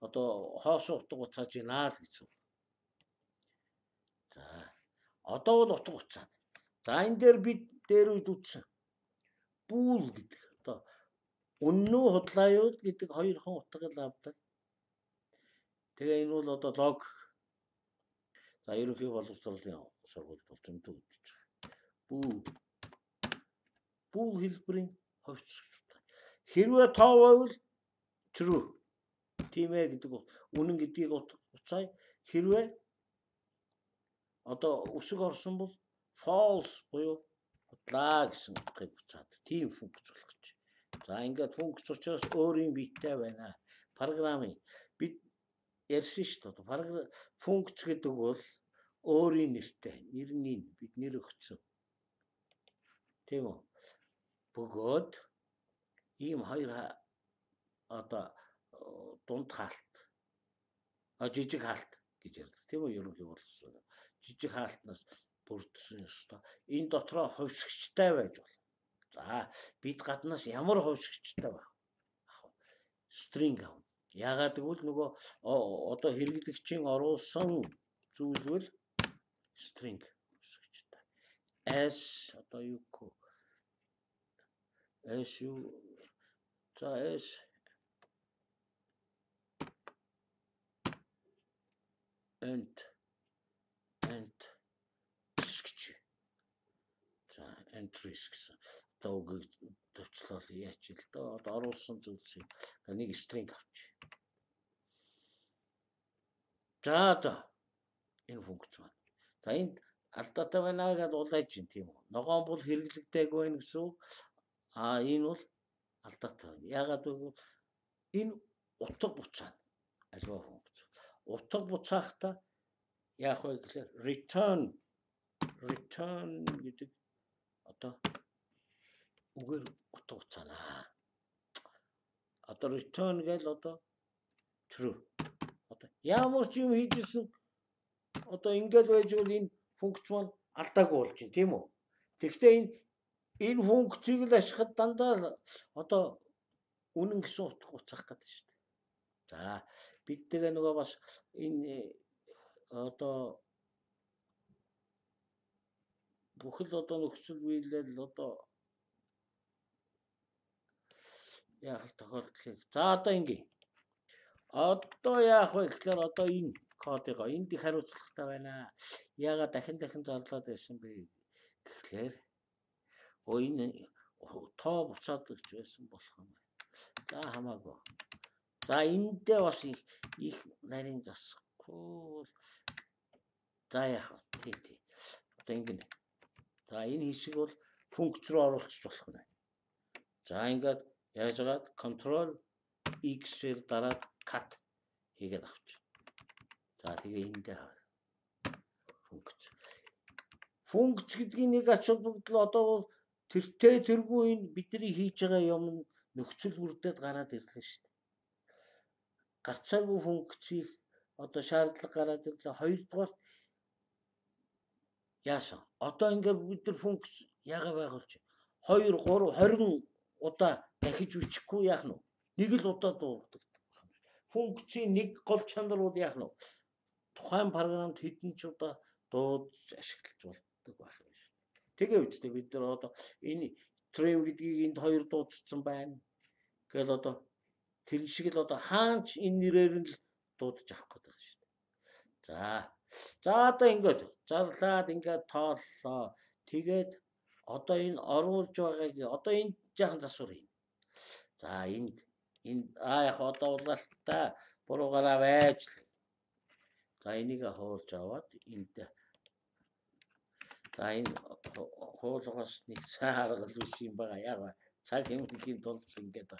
одоо хоос утга уцааж байна л гэж. За одоо бол утга учаа. За энэ дээр бид дээр үед үтсэн. Bool гэдэг. Одоо үнэн худлааюуд гэдэг хоёр хон утгыг авдаг. Тэгээ энэ бол одоо лог. За ерөнхий боловсролын сургуульд бол зөндөө үзэж байгаа. Bool хэлбэрийн ховцтой. Хэрвээ тоо байвал true. Тийм ээ гэдэг үнэн гэдгийг уцаая. Хэрвээ одоо үсэг орсон бол false буюу худлаа гэсэн утгыг буцаад тийм функц болох гэж. За ингээд функц учраас өөрийн биетэй байна. Програмын бид ярьсан шүү дээ. Функц гэдэг бол өөрийн нэртэй, нэрний бид нэр өгсөн. Тийм үү? Бөгөөд ийм хоёр одоо дунд хаалт. Жижиг хаалт гэж ярьдаг. Тийм үү? Ерөнхий боловсрол. Жижиг хаалтнаас бүрдсэн ёстой. Энэ дотроо ховсгчтай байж болно. За бид гаднаас ямар ховсгчтай байх вэ? String авна. Яагаад гэвэл нөгөө одоо хэрэглэгчийн оруулсан зүйл бол string ховсгчтай. S одоо юу гэх вэ? S юу? За S and entries гэсэн. Одоо үгийг төвчлөл яач л доо. Одоо оруулсан зүйлсийг нэг string авч. За одоо энэ функц байна. За энд алдаатай байна гэдээ улайж чинь тийм үү. Ногоон бол хэрэглэгдээгүй байх гэсэн үг. Энэ бол алдаатай байна. Яагаад гэвэл энэ утга буцаа. Аливаа функц. Утга буцаахта яах вэ гэхээр return гэдэг одоо үгээр утга буцаана. Одоо return гэл одоо true. Одоо ямар ч юм хийжсэн одоо ингээд байж бол энэ функц маань алдаагүй болж байна тийм үү? Тэгэхдээ энэ функцийг л ашиглахад дандаа одоо үнэн гэсэн утга буцаах гэдэг шүү дээ. За бид тэгээ нөгөө бас энэ одоо бүхэл одоо нөхцөл биелэл одоо яах тохиолдлыг. За одоо ингэ. Одоо яах вэ гэхээр одоо энэ кодыг энд их хариуцлагатай байна. Яагаад дахин зарлаад байсан бэ гэхлээр энэ тоо буцаад гэж байсан болох юм байна. За хамаагүй. За эндээ бас их нарийн засахгүй. За яах вэ? Тий. Одоо ингэ. За энэ хэсэг бол функц руу оруулчих болох нь. За ингээд яаж байгаад control X-ээр дараад cut хийгээд авч. За тэгээ эндээ функц гэдгийг нэг ач холбогдол одоо бол тэргүй энэ бидний хийж байгаа юм нөхцөл бүрдээд гараад ирлээ шүү дээ. Гарцаагүй функцийг одоо шаардлага гараад ирлээ. Хоёрдугаар яасан? Одоо ингээд бид нар функц яага байгуулж 2 3 20 удаа дахиж үчихгүй яах нь вэ? Нэг л удаа дууддаг. Функцийн нэг гол чанар бол яах нь вэ? Тухайн програмд хэдэн ч удаа дуудаж ашиглаж болдог байх юм шүү. Тэгээ үстэй бид нар одоо энэ trim гэдгийг энд 2 дуудсан байна. Гэвэл одоо тэр шиг л одоо хаанч энэ нэрээр нь л дуудаж авах гэдэг юм шүү. За одоо ингээд зарлаад ингээд тооллоо. Тэгээд одоо энэ оруулж байгааг одоо энд жаахан засвар юм. За энд яг одоо улаалтаа буруугаараа байж л. За энийг хуулж аваад энд за энэ хуулгаас нэг сааргал биш юм байгаа. Яг цаг хэмжээний тулд ингээд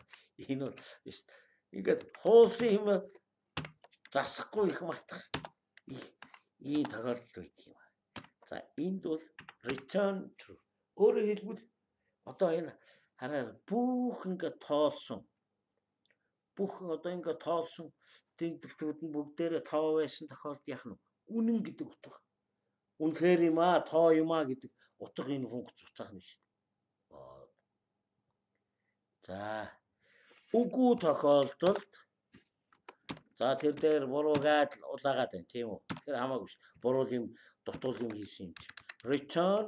энэ бол ингээд хуулсан юм засахгүй их мартах. Ийм тохиолдол үйт юм. За энд бол return true. Өөрөөр хэлбэл одоо энэ хараа бүх ингээд тоолсон. Бүх одоо ингээд тоолсон тэмдэглэлүүд нь бүгдээрээ тоо байсан тохиолдолд яах нь үнэн гэдэг утга. Үнэхээр юм аа, тоо юм аа гэдэг утга энэ функц утгаах нь шүү дээ. За. Үгүй тохиолдолд за тэр дээр буруугаад улаагаад байна тийм үү? Тэр хамаагүй ш. Буруу юм дутуул юм хийсэн юм чи. Return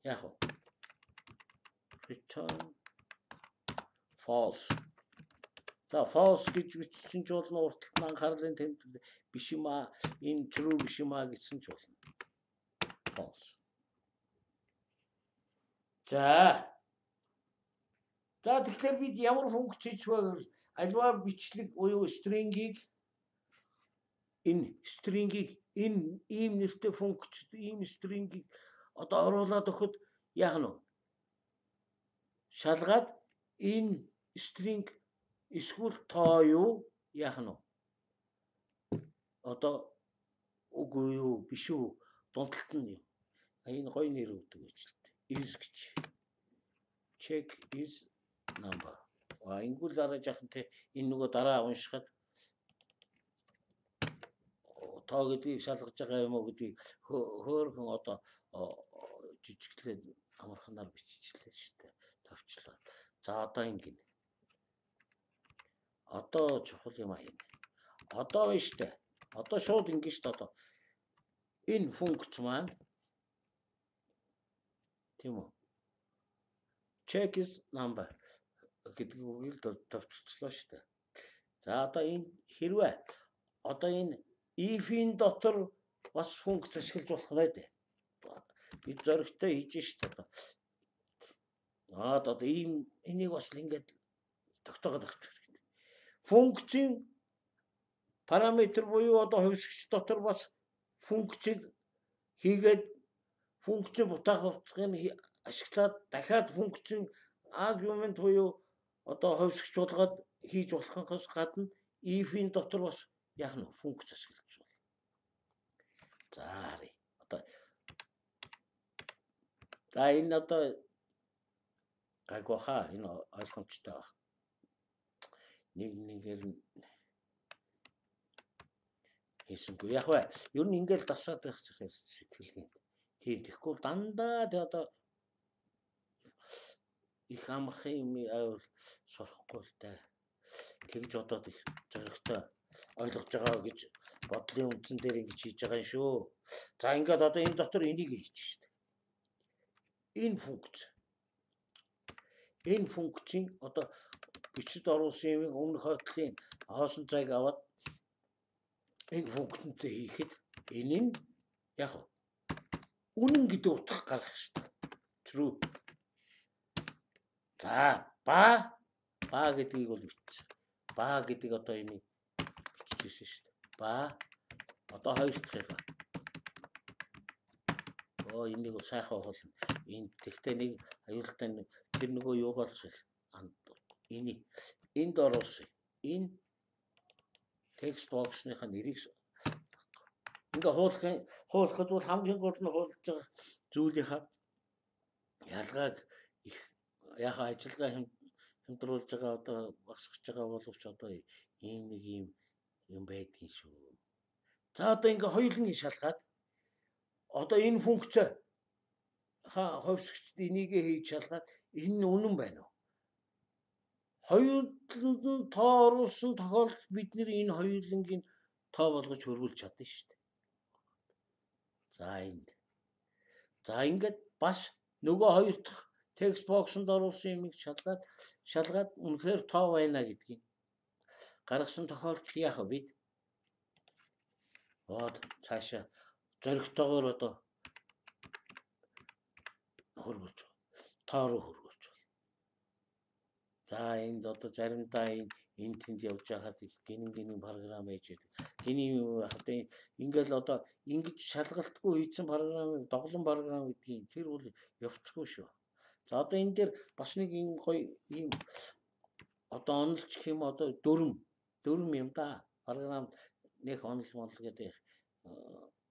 яах вэ? Return false. За false гэж бичсэн ч болно урталт нь анхаарлын тэмдэг биш юм аа, энэ true биш юм аа гэсэн ч болно. False. За тэгэхээр бид ямар функц хийж вэ? Альва бичлэг буюу string-ийг энэ ийм нэртэй функцд ийм string-ийг одоо оруулаад өгөхөд яах нь вэ? Шалгаад энэ string эсвэл тоо юу яах нь вэ? Одоо үгүй юу биш үү? Дундалт нь юу? Энэ гоё нэр өгдөг байж л дээ. Is гэж. Check is number. Ингүүл дараа жахан те энэ нөгөө дараа уншихад тоо гэдгийг шалгаж байгаа юм уу гэдгийг хөөрхөн одоо жижиглээд амарханаар биччихлээ шүү дээ. Товчлоо. За одоо ингэнэ. Одоо чухал юм аа энэ. Одоо байна шүү дээ. Одоо шууд ингэ шүү дээ одоо. Энэ функц маань тийм үү? Check is number гэдэг үгийг товчлоо шүү дээ. За одоо энэ хэрвээ одоо энэ if-ийн дотор бас функц ашиглаж болох нэ дээ. Бид зөрөгтэй хийж шүү дээ. Одоо энийг бас ингэж тогтоогоод авчих хэрэгтэй. Функцийн параметр буюу одоо хувьсгч дотор бас функцийг хийгээд функцийн бутаах утгыг ашиглаад дахиад функцийн аргумент буюу одоо хувьсгч болгоод хийж болохоос гадна if-ийн дотор бас яах нь функц ашиглаж байна. За харъя. Одоо энэ одоо гайгууха энэ ойлгомжтой байна. Нэгээр хийсэнгүй яг бай. Ер нь ингээл дасаад байх сэтгэлгээ. Тийм тэгэхгүй дандаа тэ одоо их амархан юм авал сурахгүй л та. Тэгж одоод их зөрөгтэй ойлгож байгаа гэж бодлын үндсэн дээр ингэж хийж байгаа юм шүү. За ингээд одоо энэ дотор энийг хийж штэ. Энэ функцийн одоо бичиж оруулсан юм өмнөх хотлын хоосон цайг аваад энэ функцэнтэй хийхэд энэ нь яг үнэн гэдэг утга гаргах штэ. True. За ба гэдгийг бол бичсэн. Ба гэдэг одоо энийг бичижсэн шүү дээ. Ба одоо хоёр дахь. Энийг сайхан болно. Энэ тэгтээ нэг аюултай тэр нөгөө юугаар шил. Энд оруулсан. Энэ текст боксных нэрийг ингээ хуулахад бол хамгийн гол нь хуулж байгаа зүйлийнхаа ялгааг их яхаа ажиллагаа хэмтруулж байгаа одоо багсгаж байгаа боловч одоо ийм нэг юм байдгийн шүү. За одоо ингээ хоёулын шалгаад одоо энэ функц хувьсгчд энийг хийж шалгаад энэ нь үнэн байна уу? Хоёуланд нь тоо оруулсан тохиолдолд бид нэр энэ хоёулангийн тоо болгож хөрвүүлж чадна шүү дээ. За ингээд бас нөгөө хоёр дахь текст боксонд оруулсан юмыг шалгаад үнэхээр тоо байна гэдгийг гаргасан тохиолдолд яах вэ бид? Цаашаа зөрөгтэйгээр одоо хөрвүүлж тоо руу хөрвүүлж байна. За энд одоо заримдаа энэ тэнд явж байхад гинэн програм ээж байдаг. Гиний одоо ингээл одоо ингэж шалгалтгүй хийсэн програмыг доглон програм гэдгийг тэр бол явцгүй шүү. За одоо энэ дээр бас нэг юм гоё ийм одоо онолч гэх юм одоо дөрм юм да. Програм нэг онол гэдэг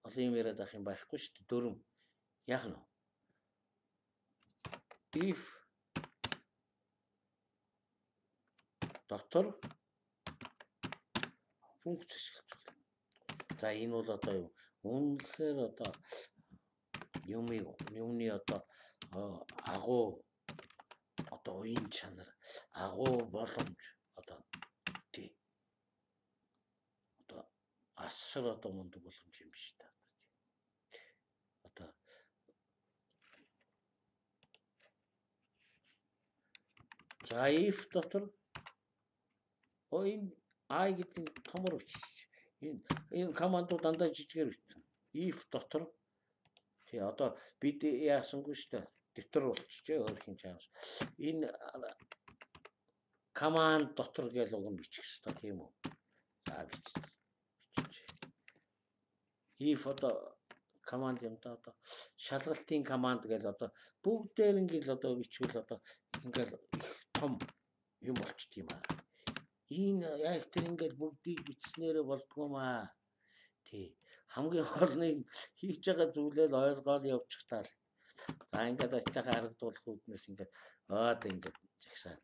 олон юм яриад ах юм байхгүй шүү дээ. Дөрм яах нь? If дотор функц ашиглаж байна. За энэ бол одоо юу? Үнэхээр одоо юмны одоо агуу одоо уян чанар, агуу боломж одоо тий. Одоо асар одоо мундаг боломж юм биш та. Одоо за if дотор энэ I гэдэг томор бичиж энэ командууд дандаа жижигээр бичсэн. If дотор тий одоо бид яасангүй шүү дээ. Детер болчихжээ өөр хин чаас. Энэ команд дотор гэж уг нь бичих хэрэгтэй тийм үү? За бичиж. If одоо команд юм да одоо шалгалтын команд гэж одоо бүгдээр ингээл одоо бичвэл одоо ингээл их том юм болчт юм аа. Энэ яг тэр ингээл бүгдийг бичснээрээ болдгоомаа. Тий. Хамгийн гол нь хийж байгаа зүйлээ ойлгоод явчих таа. За ингээд ажтайхаа харагдуулах үүднээс ингээд ингээд жагсаа.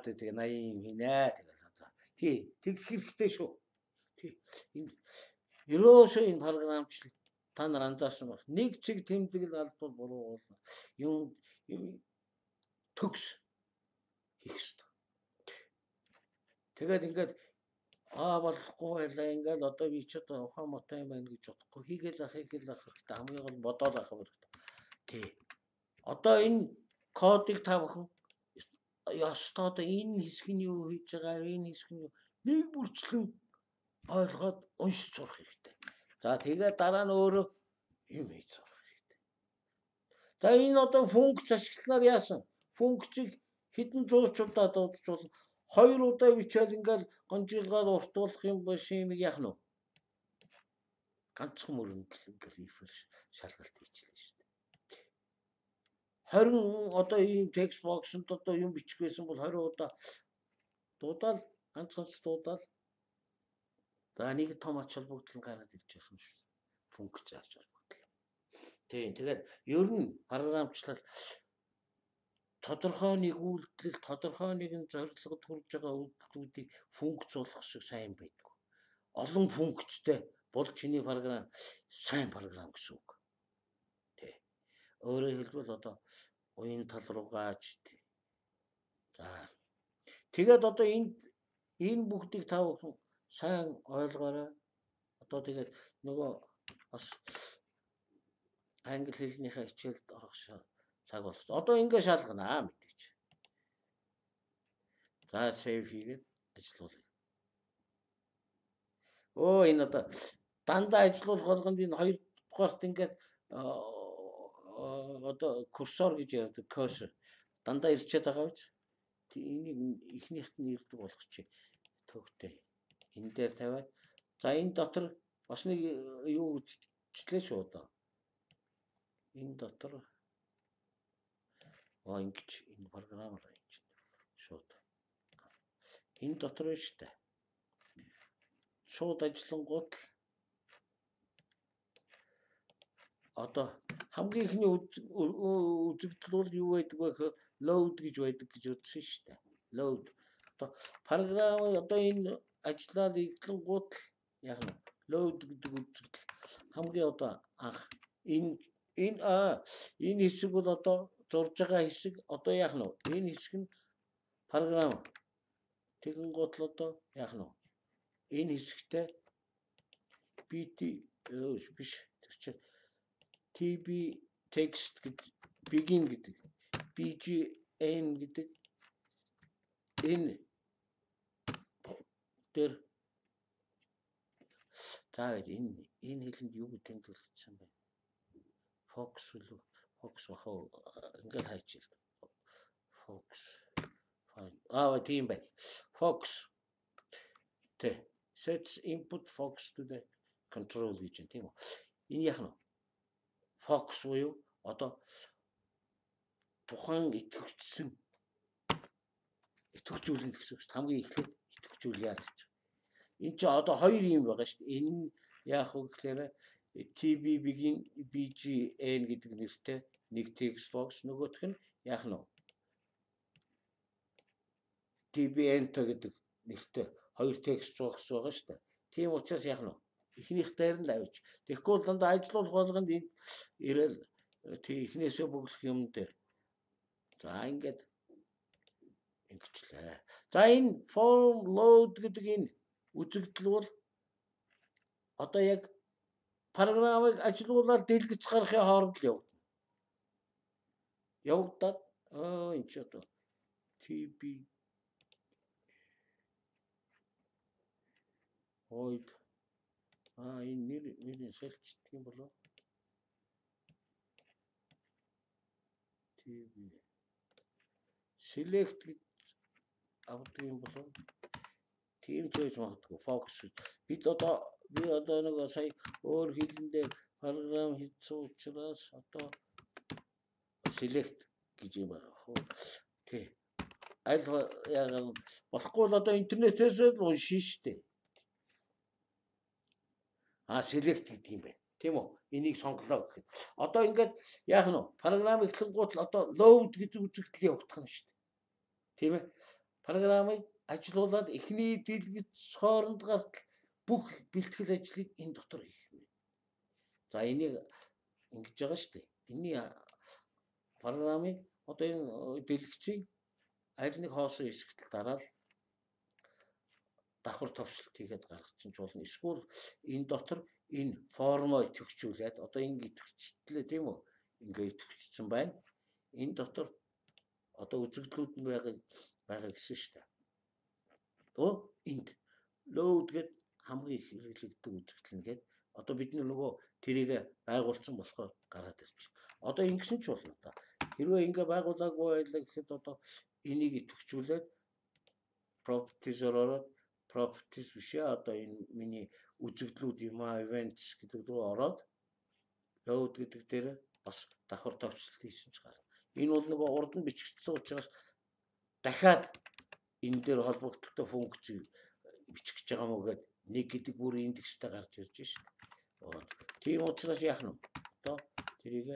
Тэгээ 80 хийнэ тэгэл одоо. Тий, тэг хэрэгтэй шүү. Тий. Энэ ерөөсөө энэ програмчлал та нар анзаарсан баг. Нэг чиг тэмдэглэл алдвал буруу болно. Юм төгс хийх хэрэгтэй. Тэгээд ингээд болохгүй байлаа ингээд одоо би ч одоо ухаан мотой юм байна гэж бодохгүй хийгээл ах хэрэгтэй. Хамгийн гол бодоод ах хэрэгтэй. Тий. Одоо энэ кодыг та бүхэн ёстой одоо энэ хэсэг нь юу хийж байгаа, энэ хэсэг нь нэг бүрчлэн ойлгоод уншиж сурах хэрэгтэй. За тэгээд дараа нь өөрөө юм хийж сурах хэрэгтэй. За энэ одоо функц ашигланаар яасан? Функцийг хэдэн зуучудаа дуудаж болно. 2 удаа бичээд ингээл гонжилгаад уртуулах юм биш юм яах нь вэ? Ганцхан мөрөндөл ингээл реферш шалгалт хийчихлээ шүү дээ. 20 одоо ийм текст боксонд одоо юм бичих байсан бол 20 удаа дуудаал ганцхан дуудаал. За нэг том ач холбогдол гараад ирж байгаа юм шүү. Функц ач холбогдол. Тийм тэгээд ер нь програмчлал тодорхой нэг үйлдэл, тодорхой нэгэн зорилгод хүрж байгаа үйлдэлүүдийг функц болгох шиг сайн байдаг. Олон функцтэй бол чиний програм сайн програм гэсэн үг. Тэ. Өөрөөр хэлбэл одоо уян тал руугаа ч тий. За. Тэгээд одоо энэ бүгдийг та бүхэн сайн ойлгоорой. Одоо тэгээд нөгөө бас англи хэлнийхээ хичээлд орох цаг болсон. Одоо ингэ шалганаа мэдээч. За save хийгээд ажиллуулъя. Энэ одоо дандаа ажиллуулах болгонд энэ 2 дугаарт ингээд одоо курсор гэж ярьдаг cursor дандаа ирчээд байгаа биз? Энийг ихнийхт нь ирдэг болгочих. Төвхтэй. Энэ дээр тавиад за энэ дотор бас нэг юу үтчлээ шүү одоо. Энэ дотор ингэж энэ програмаар хийж шууд. Энэ дотор байна шүү дээ. Шууд ажиллангууд одоо хамгийн ихний үзэгдэл бол юу байдаг вэ гэхээр load гэж байдаг гэж үзсэн шүү дээ. Load. Одоо програм одоо энэ ажлаа эглэнгууд яг нь load гэдэг үзэгдэл хамгийн одоо анх энэ хэсэг бол одоо зурж байгаа хэсэг одоо яах нь вэ? Энэ хэсэг нь програм тэгэн гутал одоо яах нь вэ? Энэ хэсэгтээ BT биш тэр чинь TB text гэдэг begin гэдэг BGN гэдэг энэ тэр таад энэ хэлэнд юу гэж тэмдэглэсэн бэ? Focus үлээ Fox вахаа ингээд хайчил. Fox. Тийм бай. Fox. Sets input focus to the control гэж тийм үү. Энэ яах нь? Fox буюу одоо тухайн идэвхжүүлэн гэсэн үг. Хамгийн эхлээд идэвхжүүлээ гэж. Энэ ч одоо 2 юм байгаа шүү дээ. Энэ яах вэ гэхээр TB begin BGN гэдэг нэртэй нэг text box нөгөөх нь яах нь TB-enter гэдэг нэртэй хоёр текст зурагч байгаа шүү дээ. Тийм учраас яах нь эхнийх дээр нь авч. Тэгэхгүй бол дандаа ажиллуулах болгонд энд ирээл тий эхнээсээ бүглэх юм дээр. За ингээд ингэчлээ. За энэ form load гэдэг энэ үзэгдэл бол одоо яг програмыг ажилуулаад дэлгэц гарахын хооронд л явагдана. Явагдаад энэ ч одоо TB void энэ нэрийн солилцдог юм болоо. TB select гэж авдаг юм болоо. Тийм ч байж магадгүй focus. Би одоо нэг сая өөр хэлэндээ програм хийсэн учраас одоо select гэж юм байгаа хөө. Тий. Аль яг болохгүй л одоо интернетээс л уншин штэ. Select гэдэг юм байна. Тийм үү? Энийг сонголоо гэхэд. Одоо ингээд яах нь вэ? Програм эхлэнгуут л одоо load гэдэг үзэгдэл явагдах нь штэ. Тийм ээ? Програмыг ажилуулад эхний дэлгэц хооронд гартал бүх бэлтгэл ажлыг энэ дотор хийх юм. За энийг ингэж байгаа штэ. Энийн програмыг одоо энэ дэлгэцийг аль нэг хоосон хэсэгт дараал давхар товчлолт хийгээд гаргачих ч болно. Эсвэл энэ дотор энэ формоо идэвхжүүлээд одоо ингэ идэвхжлээ тийм үү? Ингээ идэвхжсэн байна. Энэ дотор одоо үзэгдлүүд нь байгаа гэсэн шүү дээ. Энд load гэдэг хамгийн их хэрэглэгддэг үзэгдэл нэгээд одоо бид нөгөө тэрийг байгуулсан болохоор гараад ирж. Одоо ингэсэн ч болно та. Хэрвээ ингээ байгуулаагүй байлаа гэхэд одоо энийг идэвхжүүлээд properties ороод properties бишээ одоо энэ миний үзэгдлүүд юм events гэдэг рүү ороод load гэдэг дээр бас давхар товчлолт хийсэн ч гарна. Энэ бол нөгөө урд нь бичигдсэн учраас дахиад энэ дээр холбогдолтой функц бичих гэж байгаа мó гэдэг нэг гэдэг бүр индекстэй гарч ирж байна. Тийм учраас яах нь одоо тэрийг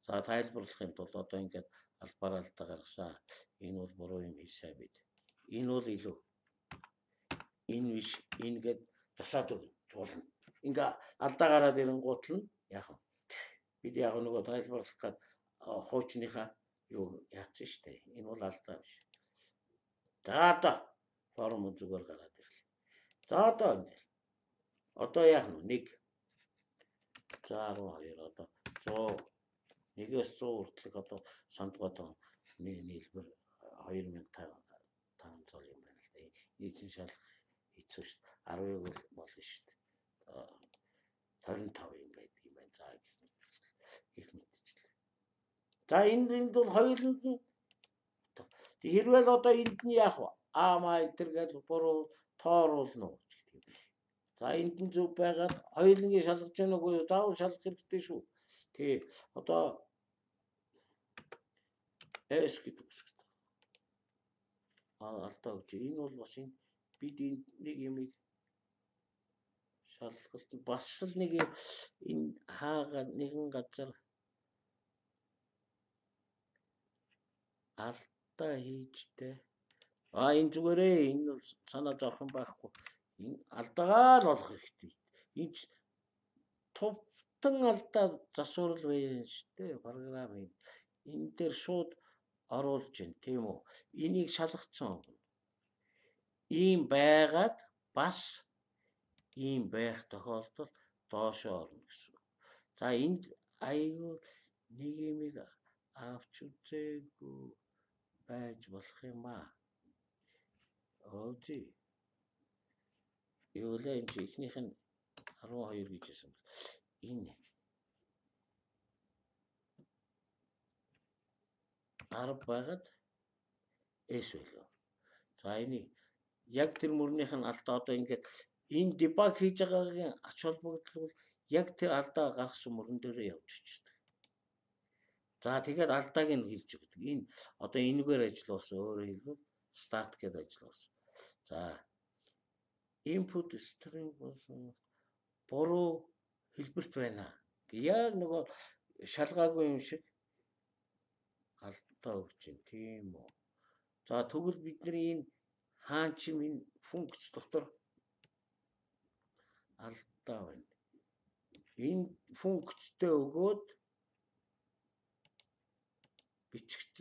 за тайлбарлахын тулд одоо ингээд албаар алдаа гаргасан. Энэ бол буруу юм хийсаа бид. Энэ бол илүү энэ биш ингээд засаад болно. Ингээ алдаа гараад ирэнгуут нь яах вэ? Бид яг нөгөө тайлбарлах гээд хуучныхаа юу яатсан штэ. Энэ бол алдаа биш. За одоо форм зүгээр гараад ирлээ. За одоо ингээл. Одоо яах нь 1 12 одоо 100 1-ээс 100 хүртэлх одоо сандгаад нийлбэр 2500 юм байна л да. Нийтийн шалгах хэцүү шүү дээ. 10-ыг болно шүү дээ. 25 юм байдаг юм байна. За их мэдчихлээ. За энд бол хоёуланд нь хэрвээ л одоо энд нь яах вэ? Маа тэргээл буруу тооруулна уу гэх юм. За энд нь зөв байгаад хоёулангийн шалгаж яах нүггүй заавал шалгах хэрэгтэй шүү. Тий. Одоо S гэдэг үсгэж. Алдаа гэж. Энэ бол бас энэ бид энэ нэг юмыг шалгалт бас л нэг энэ хаагаад нэгэн газар алдаа хийжтэй. Энэ зүгээрээ энэ бол санаа зовх юм байхгүй. Энэ алдаагаа л олох хэрэгтэй. Энэ товтон алдаа засварл байна шүү дээ. Програмын энэ дээр шууд оруулж байна тийм үү? Энийг шалгацсан. Ийм байгаад бас ийм байх тохиолдолд доошоо орно гэсэн. За энд аюу нэг юмыг авч үзээгүй байж болох юм аа. Өөзий. Юу л энэ ихнийх нь 12 гэж хэлсэн. Энэ 10 байгаад S байлаа. За энийг яг тэр мөрнийх нь алдаа одоо ингээд энэ debug хийж байгаагийн ач холбогдол бол яг тэр алдаа гаргасан мөрөн дээрээ явж очдог. За тэгээд алдааг нь хэлж өгдөг. Энэ одоо энэгээр ажилласан өөрөөр хэлбэл start гэдэг ажилласан. За input string болсон буруу хэлбэрт байна. Яг нөгөө шалгаагүй юм шиг алдаа өгч юм тийм үү. За тэгвэл бидний энэ хаан чим энэ функц дотор алдаа байна. Энэ функцтэй өгөөд бичигт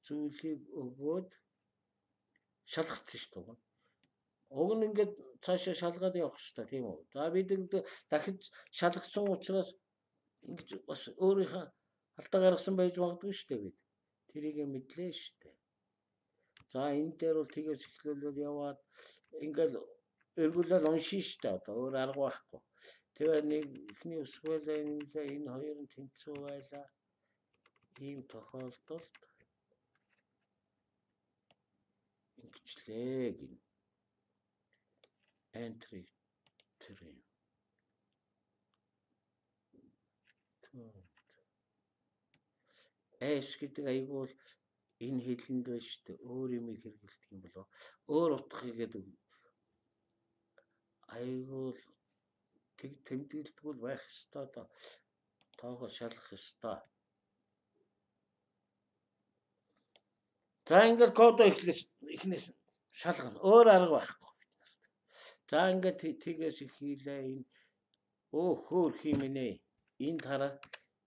зүйлийг өгөөд шалгацсан шүү дээ. Уг нь ингээд цаашаа шалгаад явах хэрэгтэй тийм үү? За бид дахиж шалгасан учраас ингэж бас өөрийнхөө алдаа гаргасан байж магадгүй шүү дээ бид. Тэрийг мэдлээ шүү дээ. За энэ дээр бол тгээс эхлүүлээд яваад ингээд эргүүлээд уншин шүү дээ. Одоо өөр арга байхгүй. Тэгээ нэг ихний өсгөл энэ хоёр нь тэнцүү байлаа. Ийм тохиолдолд ингэчлээ гин. Entry 3. Эс гэдэг айгүй бол энэ хэлэнд байна шүү дээ. Өөр юм хэрэгэлдэг юм болоо. Өөр утга хийгээд айгүй тэг тэмдэглэлтгүй байх ёстой доо. Тоогоо шалгах ёстой. За ингээд код эхнээс шалгана. Өөр арга байхгүй бид нарт. За ингээд тгээс их хийлээ энэ хөөр химэнэ. Энд хараа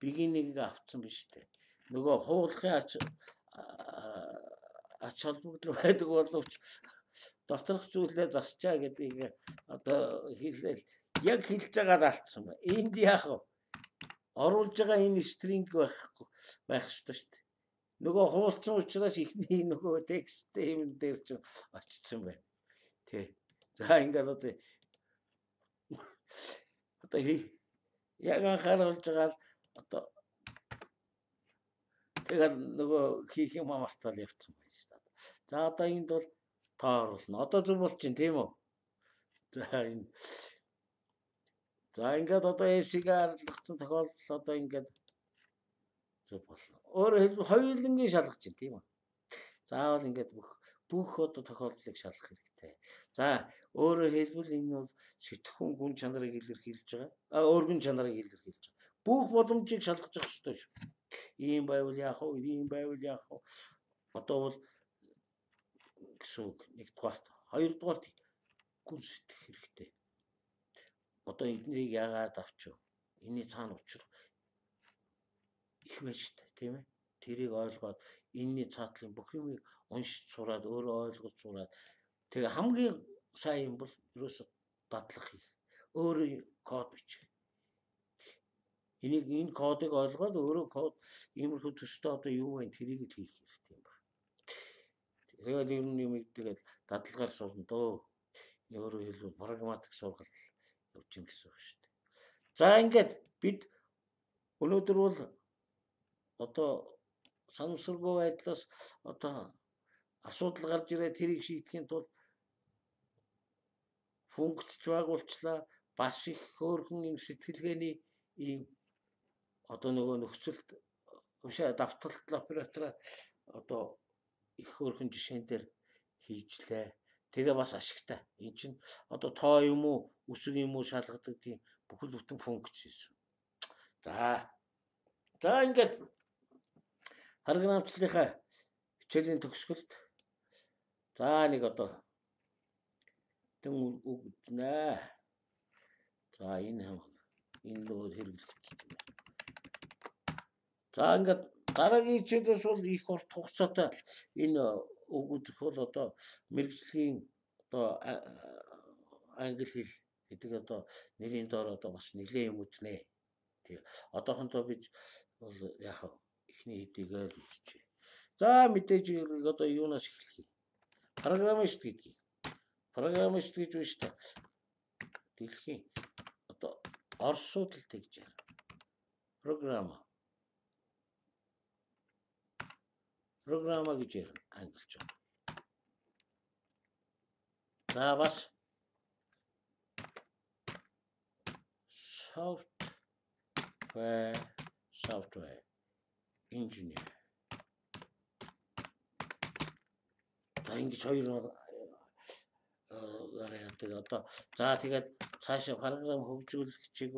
beginning авцсан биз дээ. Нөгөө хуулахын ач холбогдол байдаг боловч доторх зүйлээ засчаа гэдгийг одоо хэлээл яг хэлж байгаа алдсан байна. Энд яах вэ? Оруулж байгаа энэ стринг байх ёстой шүү дээ. Нөгөө хуулсан учраас ихний нөгөө тексттэй юм дээр ч очсон байна. Тэ. За ингээд одоо яг анхааруулж байгаа одоо тэгээд нөгөө хийх юм мартал явцсан байна шүү дээ. За одоо энд бол тооруулна. Одоо зүг болж чинь тийм үү? За ингээд одоо эсийг арилгацсан тохиолдол одоо ингээд зүг болно. Өөрөөр хэлбэл хоёулангийн шалгах чинь тийм үү? Заавал ингээд бүх одоо тохиолдлыг шалгах хэрэгтэй. За өөрөөр хэлбэл энэ бол сэтгхүүн гүн чанарыг илэрхийлж байгаа. Өргөн чанарыг илэрхийлж байгаа. Бүх боломжийг шалгаж явах хэрэгтэй шүү. Ийм байвал яах вэ? Ийм байвал яах вэ? Одоо бол гэсэн нэгдүгээрт, хоёрдугаарт гүн сэтгэх хэрэгтэй. Одоо эднийг яагаад авчих вэ? Энийн цаана учир их байж та тийм ээ. Тэрийг ойлгоод энэний цаатлын бүх юмыг уншиж сураад өөрөө ойлгож сураад тэгээ хамгийн сайн юм бол ерөөсө дадлах хийх. Өөрөө код бичих. Энэ кодыг ойлгоод өөрөө код иймэрхүү төстэй одоо юу вэ? Тэрийг л хийх хэрэгтэй юм байна. Тэгээд ер нь юм тэгээд дадлагаар сурна дөө. Өөрөөр хэлбэл прагматик сургалт явж ин гэсэн үг шүү дээ. За ингээд бид өнөөдөр бол одоо санамсаргүй байдлаас одоо асуудал гарч ирээ тэрийг шийдэхийн тулд функцч байгуулчлаа. Бас их хөөрхөн юм сэтгэлгээний ийм одоо нөгөө нөхцөлд ушаа давталт оператора одоо их хөөрхөн жишээн дээр хийжлээ. Тэгээ бас ашигтай. Энд чинь одоо тоо юм уу, үсэг юм уу шалгадаг тийм бүхэл бүтэн функц хийсэн. За ингээд програмчлалынхаа хичээлийн төгсгөлд за нэг одоо тэн үгднэ. За энэ нөгөө хэрэглэгдсэн юм. За ингээд дараагийн хичээлээс бол их урт хугацаатай энэ үгүүд бол одоо мэргэжлийн одоо англи хэл гэдэг одоо нэрийн доор одоо бас нэлээд юм үзнэ. Тэгээ одоохондоо бид бол яг ихний хэдийгээр үзчихье. За мэдээж одоо юунаас эхлэх юм? Программист гэдгийг. Программист гэж байна шүү дээ. Дэлхийн одоо орсууд л тэгж байна. Програма гэж ярина англич. За бас software engineer. За ингэж хоёр яриадаг одоо за тэгээд цаашаа програм хөгжүүлэгчийг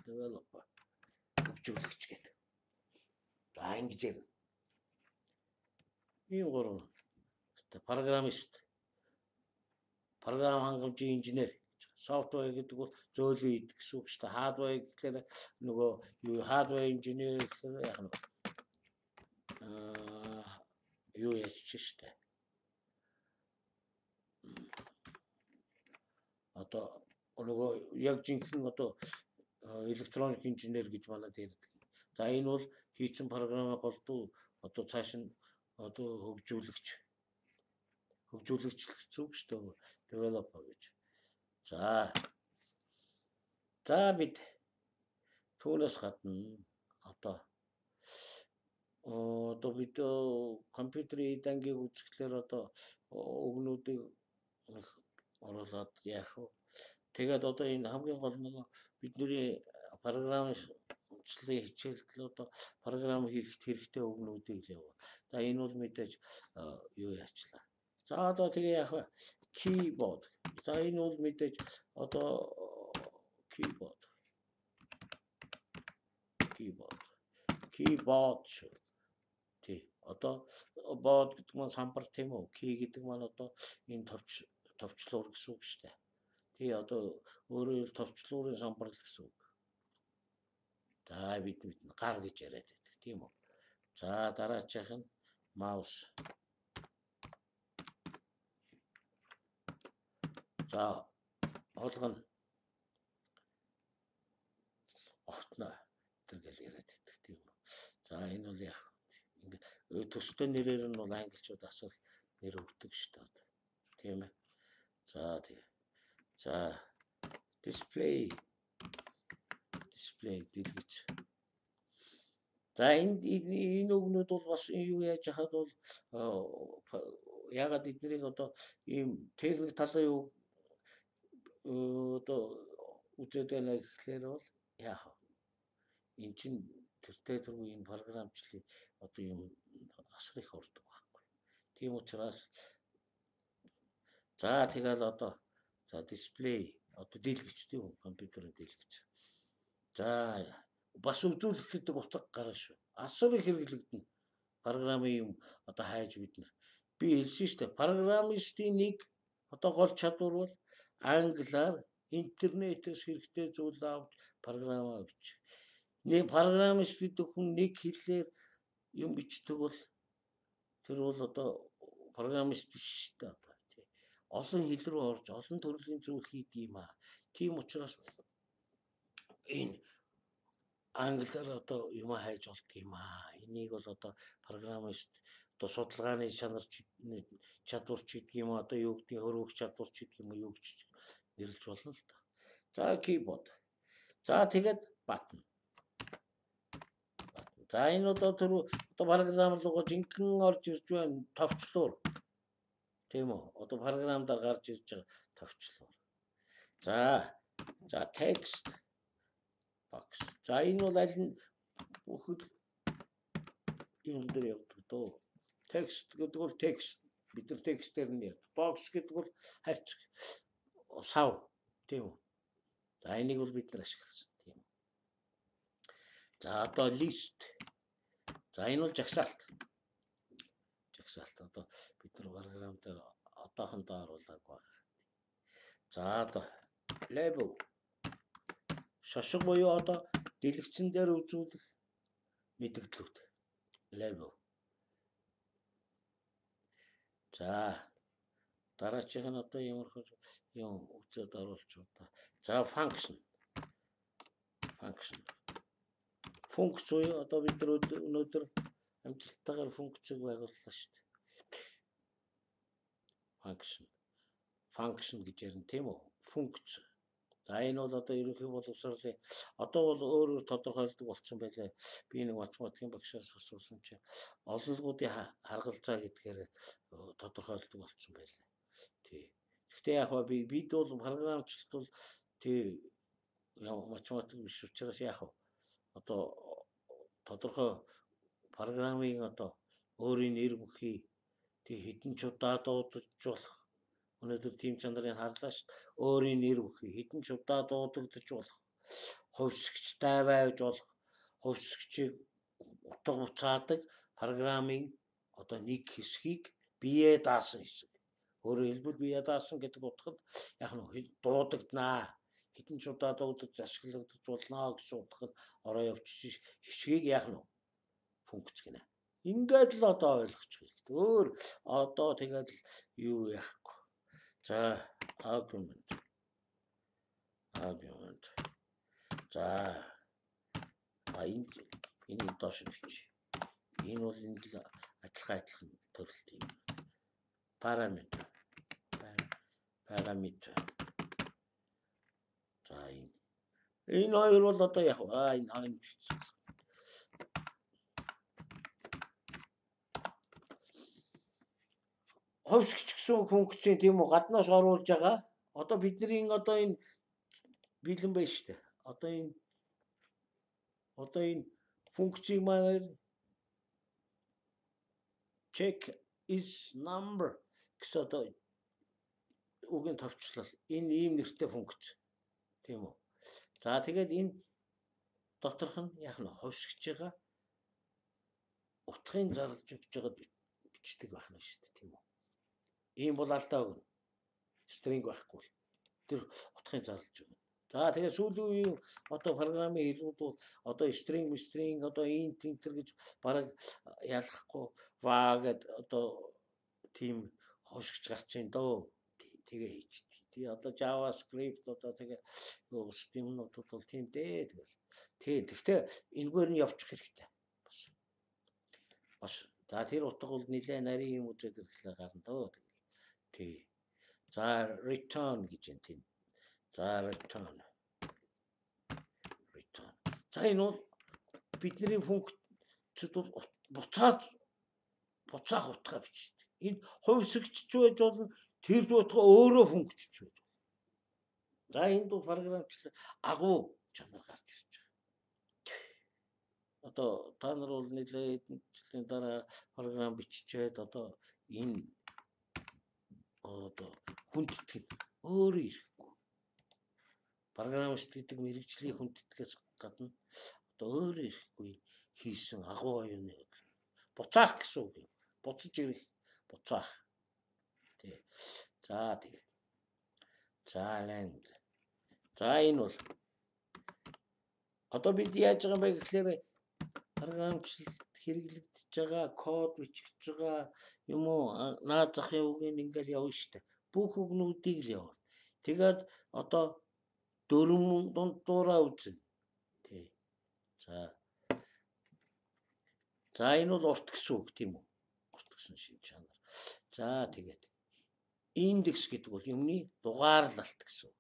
developer хөгжүүлэгч гэдэг. За ингэж ярина. Ийм гурав. Программист, програм хангамжийн инженер, софтвер гэдэг бол зөөлөн идэх гэсэн үг шүү дээ. Hardware гэхээр нөгөө юу hardware инженер гэхээр яг нь юу яач шүү дээ. Одоо нөгөө яг жинхэнэ одоо электроник инженер гэж манайд ярьдаг. За энэ бол хийсэн програмыг голдуу одоо цааш нь одоо хөгжүүлэгч зүг шүү дээ. Developer гэж. За бид түүнээс гадна одоо бид компьютерийн дангийг үзэхлээр одоо өгнүүдийг оруулаад яах вэ? Тэгээд одоо энэ хамгийн гол нэг бидний програмчлалын хичээлдэл одоо програм хийхэд хэрэгтэй өгнүүдийг л яваа. За энэ бол мэдээж юу яачлаа. За одоо тэгээ яах вэ? Keyboard. За энэ бол мэдээж одоо keyboard шүү. Тий. Одоо board гэдэг нь самбар тийм үү? Key гэдэг нь одоо энэ товчлуур гэсэн үг шүү дээ. Тий одоо өөрөөр товчлуурын самбар л гэсэн үг. За бид гар гэж яриад байдаг тийм үү? За дараачих нь маус. За олгоно. Огтно тэргээл яриад байдаг тийм үү? За энэ бол яг ингээд төстэй нэрээр нь бол англичууд асар нэр өгдөг шүү дээ. Тийм ээ. За display дэлгэц. За энэ өгнүүд бол бас юу яаж хахад бол ягаад эднийг одоо ийм техник талын юу одоо үзээд байна гэхлээр бол яах вэ? Эн чин тэртээ түрүү энэ програмчлалыг одоо юм асар их ордог байхгүй. Тийм учраас за тэгэл одоо дисплей одоо дэлгэц тийм үү? Компьютерийн дэлгэц. За бас үзүүлэх гэдэг утга гарна шүү. Асар их хэрэглэгдэнэ. Програмын юм одоо хайж бид нар. Би хэлсэн шүү дээ. Программистийн нэг одоо гол чадвар бол англиар интернетээс хэрэгтэй зүйл авч програм авч. Нэг программист гэдэг хүн нэг хэлээр юм бичдэг бол тэр бол одоо программист биш шүү дээ. Олон хэл рүү орж олон төрлийн зүйл хийдэг юм аа. Тийм учраас энэ англиар одоо юм хайж болдго юм аа. Энийг бол одоо программист одоо судалгааны чадвар ч гэдэг юм одоо юу гэдэг хөрвөх чадвар ч гэдэг юм юу гэж нэрлэж болно л доо. За keyboard. За тэгээд button. За энэ одоо програм руу жинхэнэ орж ирж байна товчлуур. Тийм үү? Одоо програмдаар гарч ирж байгаа товчлуур. За text box. За энэ бол аль нь бүхэл юм дээр явдаг дөө. Text гэдэг бол text. Бид нар текстээр нь ярьдаг. Box гэдэг бол харьцаг сав. Тийм үү? За энийг бол бид нар ашигласан. Тийм. За одоо list. За энэ бол жагсаалт. Одоо бид нар програм дээр одоохондоо оруулаг байна. За одоо label. Шошго буюу одоо дэлгэцэн дээр үзүүлэх мэдээлэлүүд. Label. За дараачих нь одоо ямархуу юм үзээд оруулж удаа. За function. Функц буюу одоо бид нар өнөөдөр амжилттайгаар функцийг байгууллаа шүү дээ. Function гэж ярина тийм үү? Функц. За энэ бол одоо ерөнхий боловсролын одоо бол өөрөөр тодорхойлдог болсон байлаа. Би нэг математикийн багшаас асуусан чинь олонлогуудын харгалзаа гэдгээр тодорхойлдог болсон байлаа. Тий. Гэхдээ яг ба бид бол програмчлалт бол тий математик биш учраас яг одоо тодорхой програмын одоо өөрийн нэр бүхий тий хэдэн ч удаа дуудаж болох өнөөдөр тим чанарын харлаа шүү дээ. Өөрийн нэр бүхий хэдэн ч удаа дуудагдаж болох хувьсгчтай байж болох хувьсгчийг утга уцаадаг програмын одоо нэг хэсгийг бие даасан хэсэг. Өөрөөр хэлбэл бие даасан гэдэг утгад яг нь дуудагданаа. Хэдэн ч удаа дуудаж ашиглагдаж болно гэсэн утгад ороо явчих хэсгийг яг нь функц гинэ. Ингээд л одоо ойлгочих хэрэгтэй. Өөр одоо тэгээд юу яахгүй. За argument. За энэ доош бичиж. Энэ бол энэ л адилхан төрөлт юм. Parameter. За энэ хоёр бол одоо яг энэ хоёр бичсэн. Ховсгч гэсэн функцийн тийм үү гаднаас оруулж байгаа. Одоо бидний одоо энэ бэлэн байна шүү дээ. Одоо энэ функцийг маань check is number гэсэн одоо үгийн товчлол энэ ийм нэртэй функц тийм үү. За тэгээд энэ доторх нь яг нь ховсгч байгаа утгын зарлж өгч байгаа бичдэг байх нь шүү дээ тийм үү. Ийм бол алдаа өгнө. String байхгүй. Тэр утгын зарлж өгнө. За тэгээд сүүлийн үеийн одоо програмын хэлбэрүүд бол одоо string одоо int enter гэж бараг ялахгүй ваа гэд одоо тийм ховсгч гарч ийн дөө. Тэгээ хийчихдэг. Тий одоо JavaScript одоо тэгээ системнуудад бол тийм дээ тэгэл. Тэгтээ энэгээр нь явчих хэрэгтэй. Бас. За тэр утга бол нэлээ нарийн юм үзээд ирэхлээр гарна дөө тэгэл. Тий. За return гэж юм тийм. За return. За энэ бол бидний функцд бол буцаах утгаа бичдэг. Энэ хувьсгч байж болно. Тэр утга өөрөө функцч байж болно. За энд бол програмчлал агуу чанар гарч ирж байгаа. Одоо та нар бол нэлээд хэдэн жилийн дараа програм биччихэд одоо энэ одоо хүндэтгэн өөрөө ирэхгүй. Програмист гэдэг мэрэгжлийн хүндэтгэхээс гадна одоо өөрөө ирэхгүй хийсэн агуу оюуны буцаах гэсэн үг юм. Буцаж ирэх, буцаах. Тий. За тэгээд. За land. За энэ бол одоо бид яаж байгаа юм бэ гэхээр програмчлалд хэрэглэгдэж байгаа код бичиж байгаа юм уу наад захын үгийг ингээл явна штэ. Бүх үгнүүдийг л явна. Тэгээд одоо дөрвөн дундуураа үзнэ. Тий. За энэ бол урт гэсэн үг тийм үү? Урт гэсэн шин чанар. За тэгээд индекс гэдэг бол юмны дугаарлалт гэсэн үг.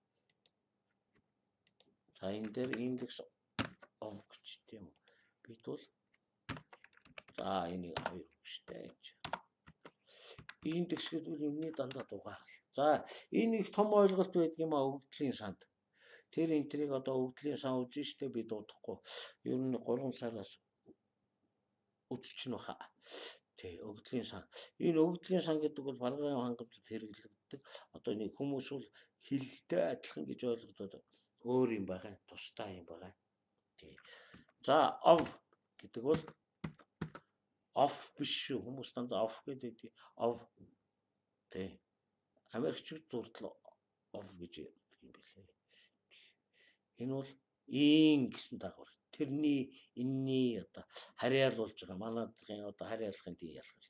За энэ дээр индекс of гэж тийм үү? Бид бол за энийг хоёр штэ. Индекс гэдэг бол юмны дандаа дугаарлал. За энэ их том ойлголт байдаг юм а өгөгдлийн санд. Тэр энтрийг одоо өгөгдлийн сан үзэн штэ би дуудахгүй. Ер нь 3 сараас үзчихнэ баха. Тий, өгөгдлийн сан. Энэ өгөгдлийн сан гэдэг бол програм хангамжид хэрэглэгддэг. Одоо нэг хүмүүс бол хэлэлтэй адилхан гэж ойлгодод өөр юм байгаа. Тусдаа юм байгаа. Тий. За of гэдэг бол off биш шүү. Хүмүүс дандаа off гэдэг of тий. Америкчууд дурдлаа of гэж ярьдаг юм билээ. Энэ бол ин гэсэн дагавар. Тэрний энэний одоо харьяалуулж байгаа. Манайдгийн одоо харьяалахын тийм ялгал.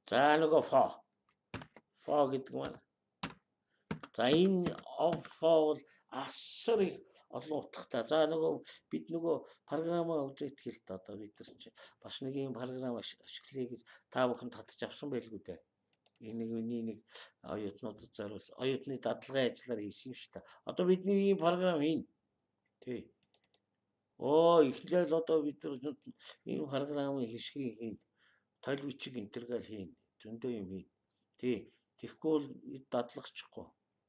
За нөгөө for гэдэг маань. За энэ of бол асар их олон утгатай. За нөгөө бид нөгөө програмаа үзээд хэлт одоо бид нар чи бас нэг юм програм ашиглая гэж та бүхэн татж авсан байлгүй дээ. Энийг нэг оюутнуудад зориулсан. Оюутны дадлагын ажлаар хийсэн юм шүү дээ. Одоо бидний ийм програм хийн. Тий. Эхлээл одоо бид нар ийм програмын хэсгийг хийн. Тойл бичиг интергал хийн. Зөндөө юм хийн. Тий. Тэгэхгүй бол дадлагчихгүй.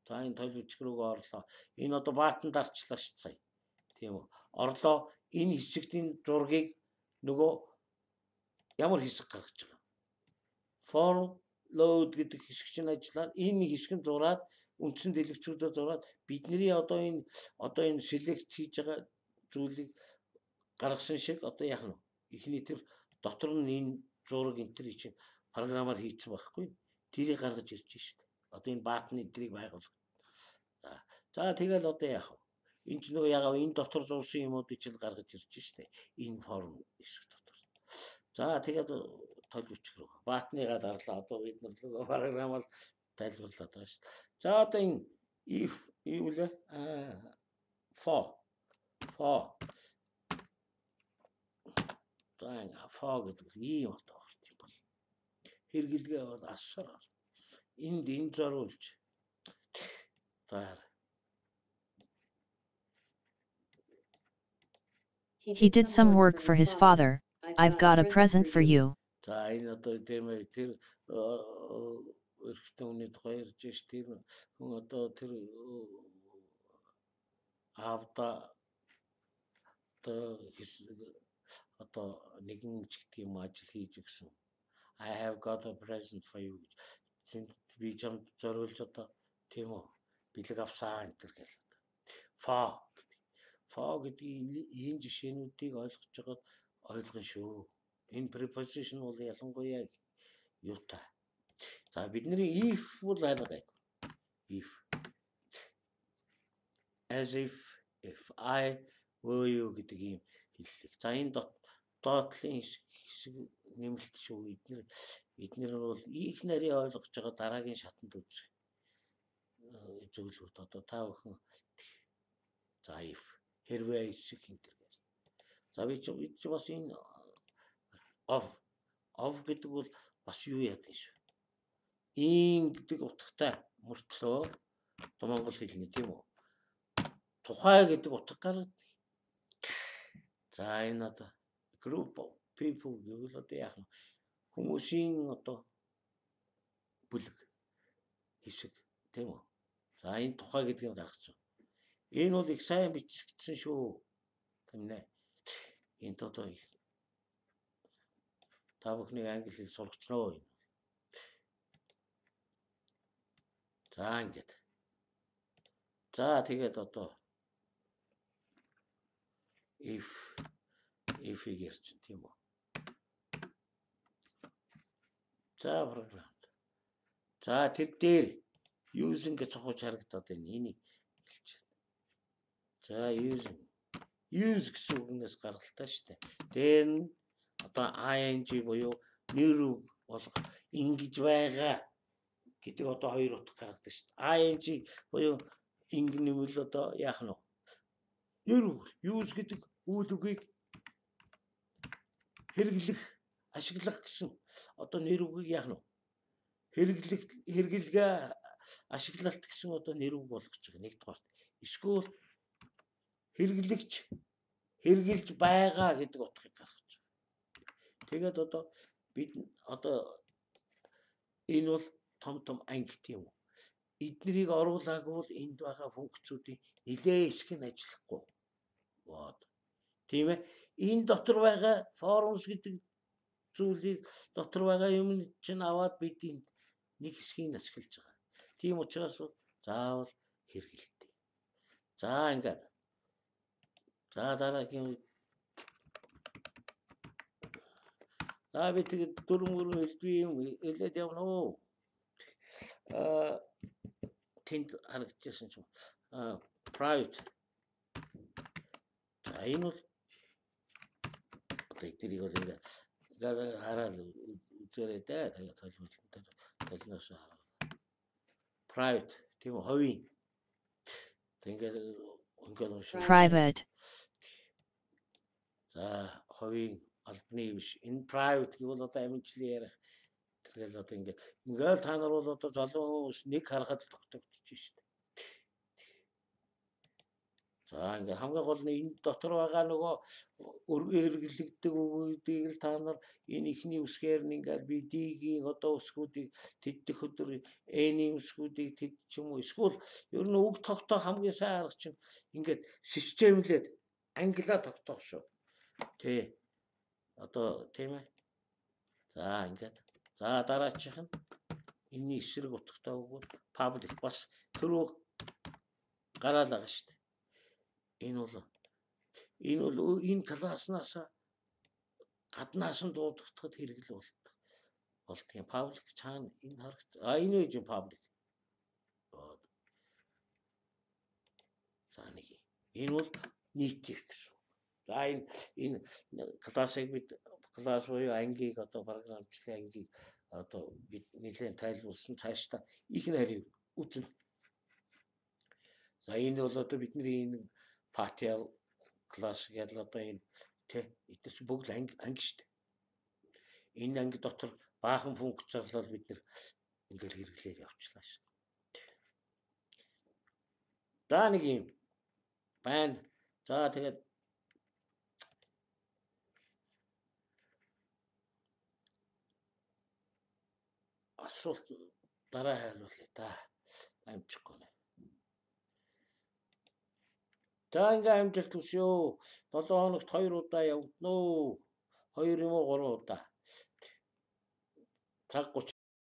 За энэ тойл бичиг рүүгээ орлоо. Энэ одоо баатан дарчлаа шүү сая. Тийм үү. Орлоо энэ хэсэгтийн зургийг нөгөө ямар хэсэг гаргаж байгаа. Form load гэдэг хэсэг чинь ажиллаад энэ хэсэг нь зураад үндсэн дэлгэцүүдэд зураад бидний одоо энэ select хийж байгаа зүйлийг гаргасан шиг одоо яах нь ихний тэр дотор нь энэ зураг энтрийг чинь програмаар хийцэн байхгүй. Тэрийг гаргаж ирж штэ. Одоо энэ баатны энтрийг байгуул. За тэгэл одоо яах вэ? Энд ч нөгөө ягаа энэ дотор зурсан юмуудыг чинь гаргаж ирж штэ. Энэ форм хэсэг дотор. За тэгээд толгойч рүү баатныгаа дарлаа. Одоо бид нар нөгөө програмаар тайлбарлаад байгаа штэ. За одоо энэ if юу вэ? For for гэдэг ийм одоо орт юм бол хэрэгэлгээ бол асар энд энэ зориулж He did some work for his father. I've got a present for you. За энэ одоо тэр өрхтөний тухай ярьж ш тэр хүн одоо тэр аавда одоо нэгэн ч гэдэг юм ажил хийж өгсөн. I have got a present for you. Би чамд зориулж одоо тийм үү бэлэг авсаа энэ төр гэл. For гэдэг энэ жишээнүүдийг ойлгож байгаад ойлгон шүү. Энэ preposition бол ялангуяа юутай. За бидний if бол аргагүй. If as if I were you гэдэг юм хэллэг. За энэ доотлын хэсэг нэмэлт шүү. Эднэр бол их нарийн ойлгож байгаа дараагийн шатанд үзэх зөвлөлүүд одоо та бүхэн за if хэрвээ хэсэг энэ. За би ч бас энэ of гэдэг бол бас юу яадаг шүү. Ин гэдэг утгатай мөртлөө монгол хэлний тийм үү. Тухай гэдэг утга гаргад. За энэ одоо group of people гэвэл одоо яах вэ? Хүмүүсийн одоо бүлэг хэсэг тийм үү. За энэ тухай гэдгийг гаргацсан. Энэ бол их сайн бичигдсэн шүү. Тийм нэ. Энд одоо та бүхний англи хэл сурагчноо энэ. За ингээд. За тэгээд одоо if ярьж тийм үү. За програм. За тэр дээр using гэж цохож харагдаад байна. Энийг хэлж байна. За use гэсэн үгнээс гаргалтай шүү дээ. Дээр нь одоо ing буюу нэр үг болох ингэж байгаа гэдэг одоо хоёр утга гаргадаг шүү дээ. ing буюу инг нэмэл одоо яах нь вэ? Нэр үг use гэдэг үйл үгийг хэрэглэх, ашиглах гэсэн одоо нэр үгийг яах нь вэ? Хэрэглэгээ ашиглалт гэсэн одоо нэр үг болгож байгаа нэгдүгээр. Эсвэл хэрэглэгч хэрэгжилж байгаа гэдэг утгыг гаргаж байгаа. Тэгээд одоо бид одоо энэ бол том анги тийм үү. Эднэрийг оруулаагүй бол энд байгаа функцүүдийн нэлээ хэсэг нь ажиллахгүй. Тийм ээ. Энэ дотор байгаа forums гэдэг зүйлийг дотор байгаа юм чинь аваад бид энд нэг хэсгийг ашиглаж байгаа. Тийм учраас заавал хэрэгэлтэй. За ингээд. За дараагийн за би тэгээд дөрвөн хэлбэрийн юм хэлээд явна уу. Тэнд харагдчихсан ч private. За энэ бол одоо эднийг бол ингээд хараад үзээрэй дээ. Тэгээд толгойлолтой толгоноос хараад. Private тийм үү ховийн. Тэгээд Private. За ховийн албаны биш. Энэ private гэвэл одоо амжилтын ярих. Тэгэл одоо ингээд та нар бол одоо залуу хүмүүс нэг харахад тогтогдож шүү дээ. За ингээд хамгийн гол нь энэ дотор байгаа нөгөө хэрэглэгддэг үгүүдийг л та нар энэ ихний үсгээр нь ингээд BD-гийн одоо үсгүүдийг тэддэх өдөр N-ийн үсгүүдийг тэд ч юм уу эсвэл ер нь үг тогтоох хамгийн сайн арга чинь ингээд системлээд англиа тогтоох шүү. Тэ. Одоо тийм ээ. За ингээд. За дараачих нь энэний эсрэг утгатай үг public бас түрүү гараад байгаа шүү дээ. Энэ бол Энэ бол энэ класснаас гаднаас нь дуудагдахад хэрэгэл болдгийн паблик цаана энэ харагд. Энэ үеийн паблик. За нэг. Энэ бол нийтих гэсэн. За энэ классыг бид класс буюу ангийг одоо програмчлалын ангийг одоо бид нэлээд тайлбарлсан цаашдаа их нарийн үтэн. За энэ бол одоо бидний энэ partial класс гэдэг одоо энэ эдгээр чи бүгд анги шүү дээ. Энэ анги дотор баахан функц зарлал бид нэр ингээл хэрэглээд явчлаа шүү дээ. За нэг юм байна. За тэгээд асуулт дараа хариулъя та. Амжихгүй нэ. За ингээ амжилт хүсье. 7 хоногт 2 удаа явагдана уу? 2 юм уу 3 удаа. Цаг